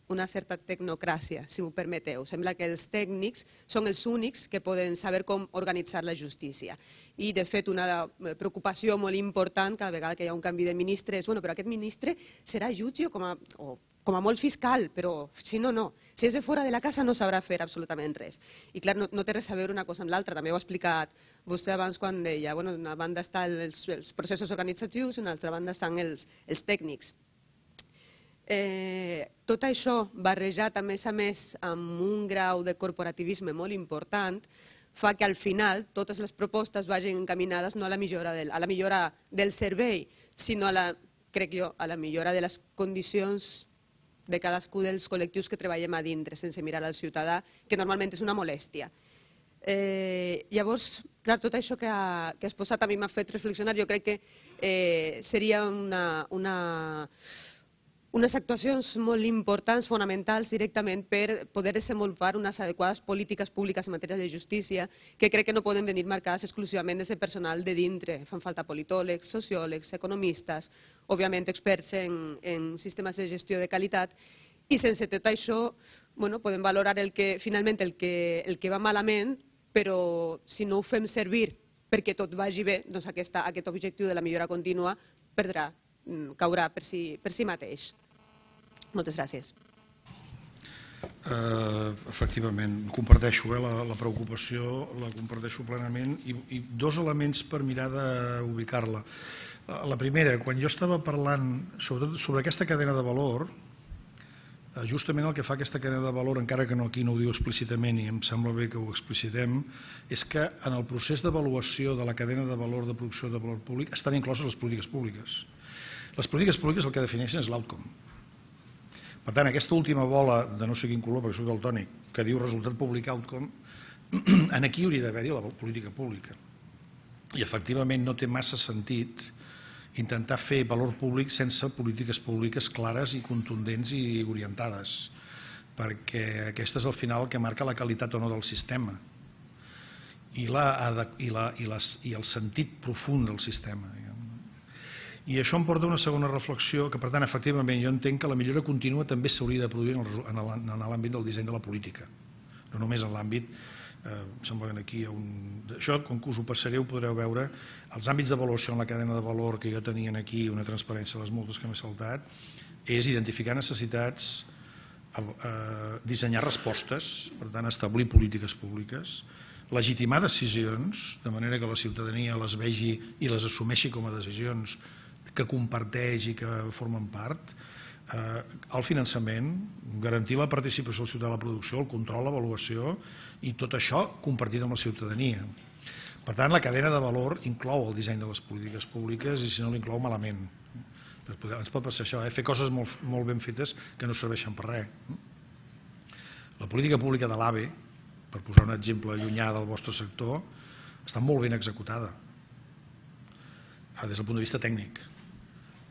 [SPEAKER 3] una certa tecnocràcia, si m'ho permeteu. Sembla que els tècnics són els únics que poden saber com organitzar la justícia. I, de fet, una preocupació molt important cada vegada que hi ha un canvi de ministre és però aquest ministre serà jutge o com a molt fiscal, però si no, no. Si és de fora de la casa no sabrà fer absolutament res. I clar, no té res a veure una cosa amb l'altra. També ho ha explicat vostè abans quan deia, d'una banda estan els processos organitzatius i d'una altra banda estan els tècnics. Tot això barrejat a més amb un grau de corporativisme molt important fa que al final totes les propostes vagin encaminades no a la millora del servei, sinó crec jo, a la millora de les condicions de cadascú dels col·lectius que treballem a dintre, sense mirar al ciutadà, que normalment és una molèstia. Llavors, clar, tot això que has posat a mi m'ha fet reflexionar. Jo crec que seria unes actuacions molt importants, fonamentals directament per poder desenvolupar unes adequades polítiques públiques en matèria de justícia, que crec que no poden venir marcades exclusivament des del personal de dintre. Fan falta politòlegs, sociòlegs, economistes, òbviament experts en sistemes de gestió de qualitat, i sense tot això podem valorar finalment el que va malament, però si no ho fem servir perquè tot vagi bé, doncs aquest objectiu de la millora contínua caurà per si mateix. Moltes gràcies.
[SPEAKER 1] Efectivament, comparteixo la preocupació, la comparteixo plenament, i dos elements per mirar d'ubicar-la. La primera, quan jo estava parlant sobretot sobre aquesta cadena de valor, justament el que fa aquesta cadena de valor, encara que aquí no ho diu explícitament i em sembla bé que ho explicitem, és que en el procés d'avaluació de la cadena de valor de producció de valor públic estan incloses les polítiques públiques. Les polítiques públiques el que defineixen és l'outcome. Per tant, aquesta última bola de no sé quin color, perquè soc daltònic, que diu resultat públic outcome, aquí hauria d'haver-hi la política pública. I efectivament no té massa sentit intentar fer valor públic sense polítiques públiques clares i contundents i orientades, perquè aquesta és al final el que marca la qualitat o no del sistema i el sentit profund del sistema. I això em porta a una segona reflexió, que per tant, efectivament, jo entenc que la millora contínua també s'hauria de produir en l'àmbit del disseny de la política, no només en l'àmbit. Em sembla que aquí hi ha això, com que us ho passaré, ho podreu veure. Els àmbits d'avaluació en la cadena de valor que jo tenia aquí, una transparència de les moltes que m'he saltat, és identificar necessitats, dissenyar respostes, per tant establir polítiques públiques, legitimar decisions, de manera que la ciutadania les vegi i les assumeixi com a decisions que comparteix i que formen part, el finançament, garantir la participació del ciutadà a la producció, el control, l'avaluació, i tot això compartit amb la ciutadania. Per tant, la cadena de valor inclou el disseny de les polítiques públiques i si no l'inclou malament. Ens pot passar això, fer coses molt ben fetes que no serveixen per res. La política pública de l'AVE, per posar un exemple llunyà del vostre sector, està molt ben executada des del punt de vista tècnic,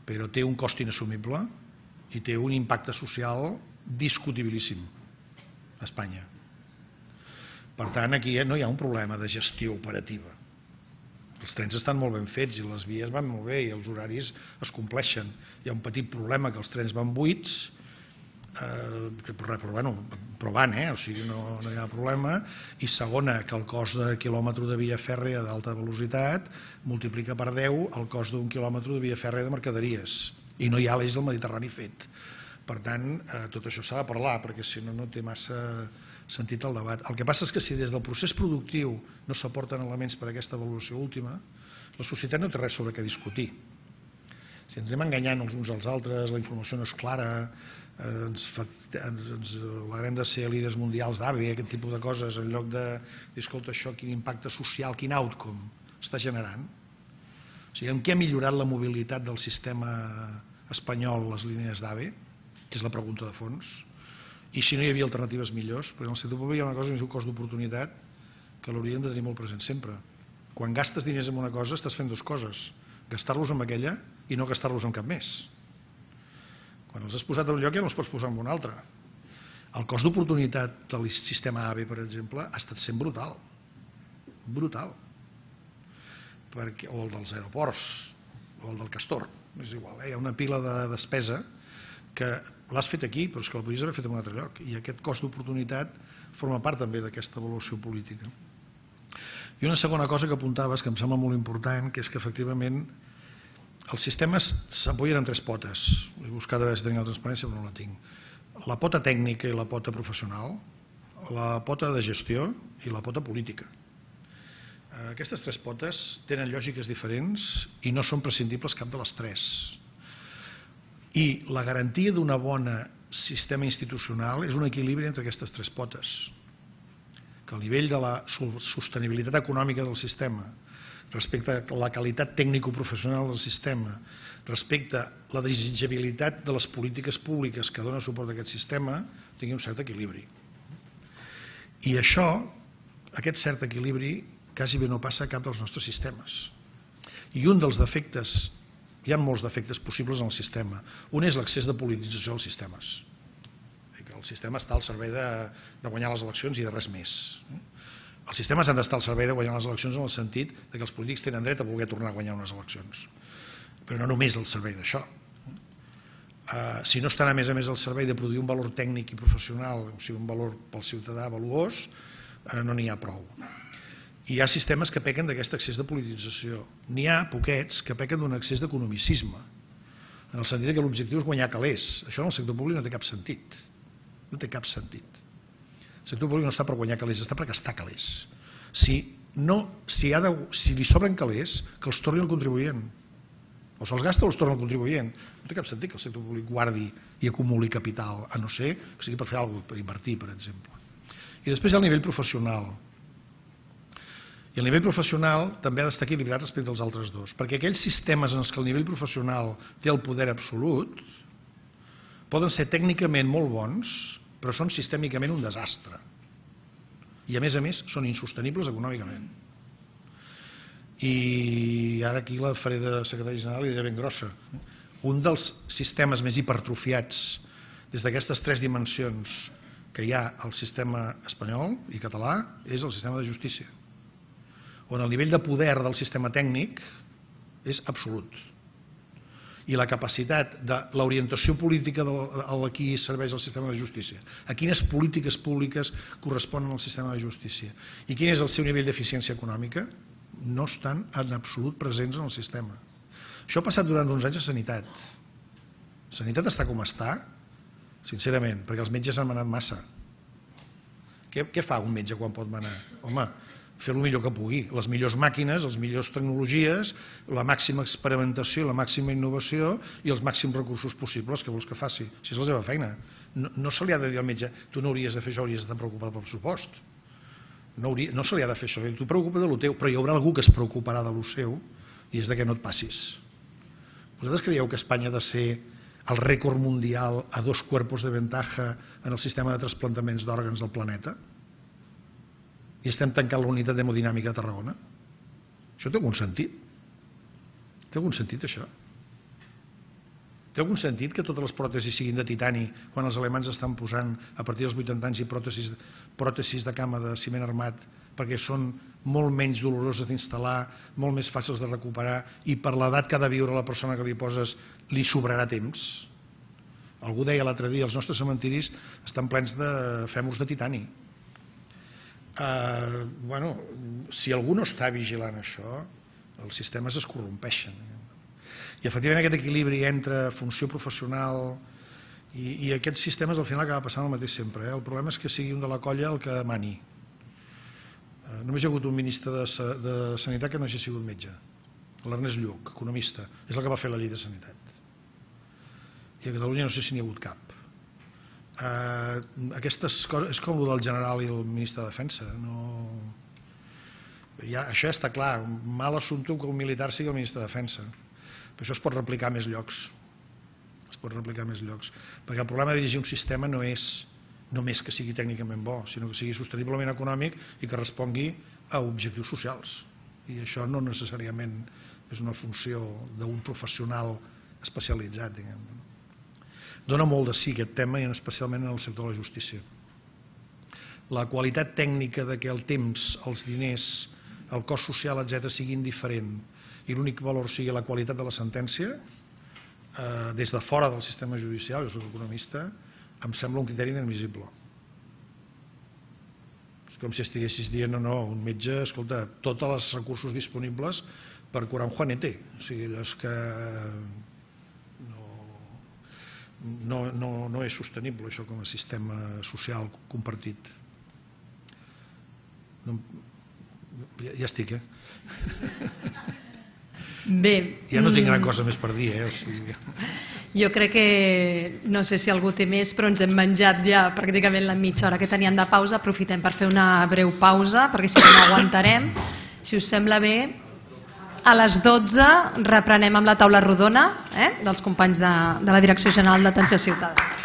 [SPEAKER 1] però té un cost inassumible i té un impacte social discutibilíssim a Espanya. Per tant, aquí no hi ha un problema de gestió operativa. Els trens estan molt ben fets i les vies van molt bé i els horaris es compleixen. Hi ha un petit problema, que els trens van buits, però van, o sigui, no hi ha problema. I segona, que el cost de quilòmetre de via fèrrea d'alta velocitat multiplica per 10 el cost d'un quilòmetre de via fèrrea de mercaderies. I no hi ha l'eix del Mediterrani fet. Per tant, tot això s'ha de parlar, perquè si no, no té massa sentit el debat. El que passa és que si des del procés productiu no s'aporten elements per a aquesta avaluació última, la societat no té res sobre què discutir. Si ens anem enganyant els uns als altres, la informació no és clara, ens alegrem de ser líders mundials d'AVE, aquest tipus de coses, en lloc de dir, escolta, això quin impacte social, quin outcome està generant. O sigui, en què ha millorat la mobilitat del sistema espanyol les línies d'AVE? És la pregunta de fons. I si no hi havia alternatives millors? Perquè en el sector públic hi ha una cosa que es diu cost d'oportunitat que l'hauríem de tenir molt present sempre. Quan gastes diners en una cosa estàs fent dues coses, gastar-los en aquella i no gastar-los en cap més. Quan els has posat en un lloc ja no els pots posar en un altre. El cost d'oportunitat del sistema AVE, per exemple, ha estat sent brutal. Brutal. O el dels aeroports, o el del Castor, és igual, hi ha una pila de despesa que l'has fet aquí, però és que la podries haver fet en un altre lloc, i aquest cost d'oportunitat forma part també d'aquesta avaluació política. I una segona cosa que apuntaves, que em sembla molt important, que és que efectivament els sistemes s'apoyen en tres potes. He buscat a veure si tenia la transparència, però no la tinc. La pota tècnica i la pota professional, la pota de gestió i la pota política. Aquestes tres potes tenen lògiques diferents i no són prescindibles cap de les tres. I la garantia d'un bon sistema institucional és un equilibri entre aquestes tres potes. que el nivell de la sostenibilitat econòmica del sistema, respecte a la qualitat tècnico-professional del sistema, respecte a la desitjabilitat de les polítiques públiques que donen suport a aquest sistema, tingui un cert equilibri. I això, aquest cert equilibri, quasi bé no passa a cap dels nostres sistemes. I un dels defectes, hi ha molts defectes possibles en el sistema. Un és l'excés de politització dels sistemes. El sistema està al servei de guanyar les eleccions i de res més. Els sistemes han d'estar al servei de guanyar les eleccions en el sentit que els polítics tenen dret a voler tornar a guanyar unes eleccions. Però no només al servei d'això. Si no estan a més al servei de produir un valor tècnic i professional, o sigui, un valor pel ciutadà valuós, no n'hi ha prou. I hi ha sistemes que pequen d'aquest excés de politització. N'hi ha poquets que pequen d'un excés d'economicisme, en el sentit que l'objectiu és guanyar calés. Això en el sector públic no té cap sentit. No té cap sentit. El sector públic no està per guanyar calés, està per gastar calés. Si li sobren calés, que els torni al contribuent. O se'ls gasta o els torna al contribuent. No té cap sentit que el sector públic guardi i acumuli capital, a no ser que sigui per fer alguna cosa, per invertir, per exemple. I després hi ha el nivell professional. I el nivell professional també ha d'estar equilibrat respecte als altres dos, perquè aquells sistemes en què el nivell professional té el poder absolut poden ser tècnicament molt bons, però són sistèmicament un desastre. I a més, són insostenibles econòmicament. I ara aquí la faré de secretari general i diré ben grossa. Un dels sistemes més hipertrofiats des d'aquestes tres dimensions que hi ha al sistema espanyol i català és el sistema de justícia, on el nivell de poder del sistema tècnic és absolut. I la capacitat de l'orientació política a qui serveix el sistema de justícia, a quines polítiques públiques corresponen al sistema de justícia i quin és el seu nivell d'eficiència econòmica, no estan en absolut presents en el sistema. Això ha passat durant uns anys a Sanitat. Sanitat està com està, sincerament, perquè els metges han manat massa. Què fa un metge quan pot manar? Home, fer el millor que pugui, les millors màquines, les millors tecnologies, la màxima experimentació, la màxima innovació i els màxims recursos possibles que vols que faci. Si és la seva feina. No se li ha de dir al metge, tu no hauries de fer això, hauries d'estar preocupat pel pressupost. No se li ha de fer això, tu preocupa't de lo teu, però hi haurà algú que es preocuparà de lo seu i és de que no et passis. Vosaltres creieu que Espanya ha de ser el rècord mundial a 2 cuerpos de ventaja en el sistema de trasplantaments d'òrgans del planeta? I estem tancant la unitat d'hemodinàmica de Tarragona? Això té algun sentit? Té algun sentit, això? Té algun sentit que totes les pròtesis siguin de titani quan els alemans estan posant a partir dels 80 anys i pròtesis de cama de ciment armat perquè són molt menys doloroses d'instal·lar, molt més fàcils de recuperar i per l'edat que ha de viure la persona que li poses li sobrarà temps? Algú deia l'altre dia, els nostres cementiris estan plens de fèmurs de titani. Si algú no està vigilant això, els sistemes es corrompeixen. I efectivament aquest equilibri entre funció professional i aquests sistemes al final acaba passant el mateix sempre. El problema és que sigui un de la colla el que mani. Només hi ha hagut un ministre de Sanitat que no hagi sigut metge, l'Ernest Lluch, economista, és el que va fer la llei de Sanitat. I a Catalunya no sé si n'hi ha hagut cap. Aquestes coses, és com el del general i el ministre de Defensa. Això ja està clar, mal assumpte que un militar sigui el ministre de Defensa. Però això es pot replicar a més llocs. Perquè el problema de dirigir un sistema no és només que sigui tècnicament bo, sinó que sigui sosteniblement econòmic i que respongui a objectius socials. I això no necessàriament és una funció d'un professional especialitzat, diguem. Dona molt de sí aquest tema, i especialment en el sector de la justícia. La qualitat tècnica de que el temps, els diners, el cost social, etc., siguin diferent i l'únic valor sigui la qualitat de la sentència, des de fora del sistema judicial, jo soc economista, em sembla un criteri inadmissible. És com si estiguessis dient, no, un metge, escolta, tots els recursos disponibles per curar un Juanete. O sigui, és que no és sostenible això com a sistema social compartit. Ja estic,
[SPEAKER 2] Bé.
[SPEAKER 1] Ja no tinc gran cosa més per dir, o sigui...
[SPEAKER 2] Jo crec que, no sé si algú té més, però ens hem menjat ja pràcticament la mitja hora que teníem de pausa. Aprofitem per fer una breu pausa, perquè si no aguantarem. Si us sembla bé, a les 12 reprenem amb la taula rodona dels companys de la Direcció General d'Atenció Ciutadana.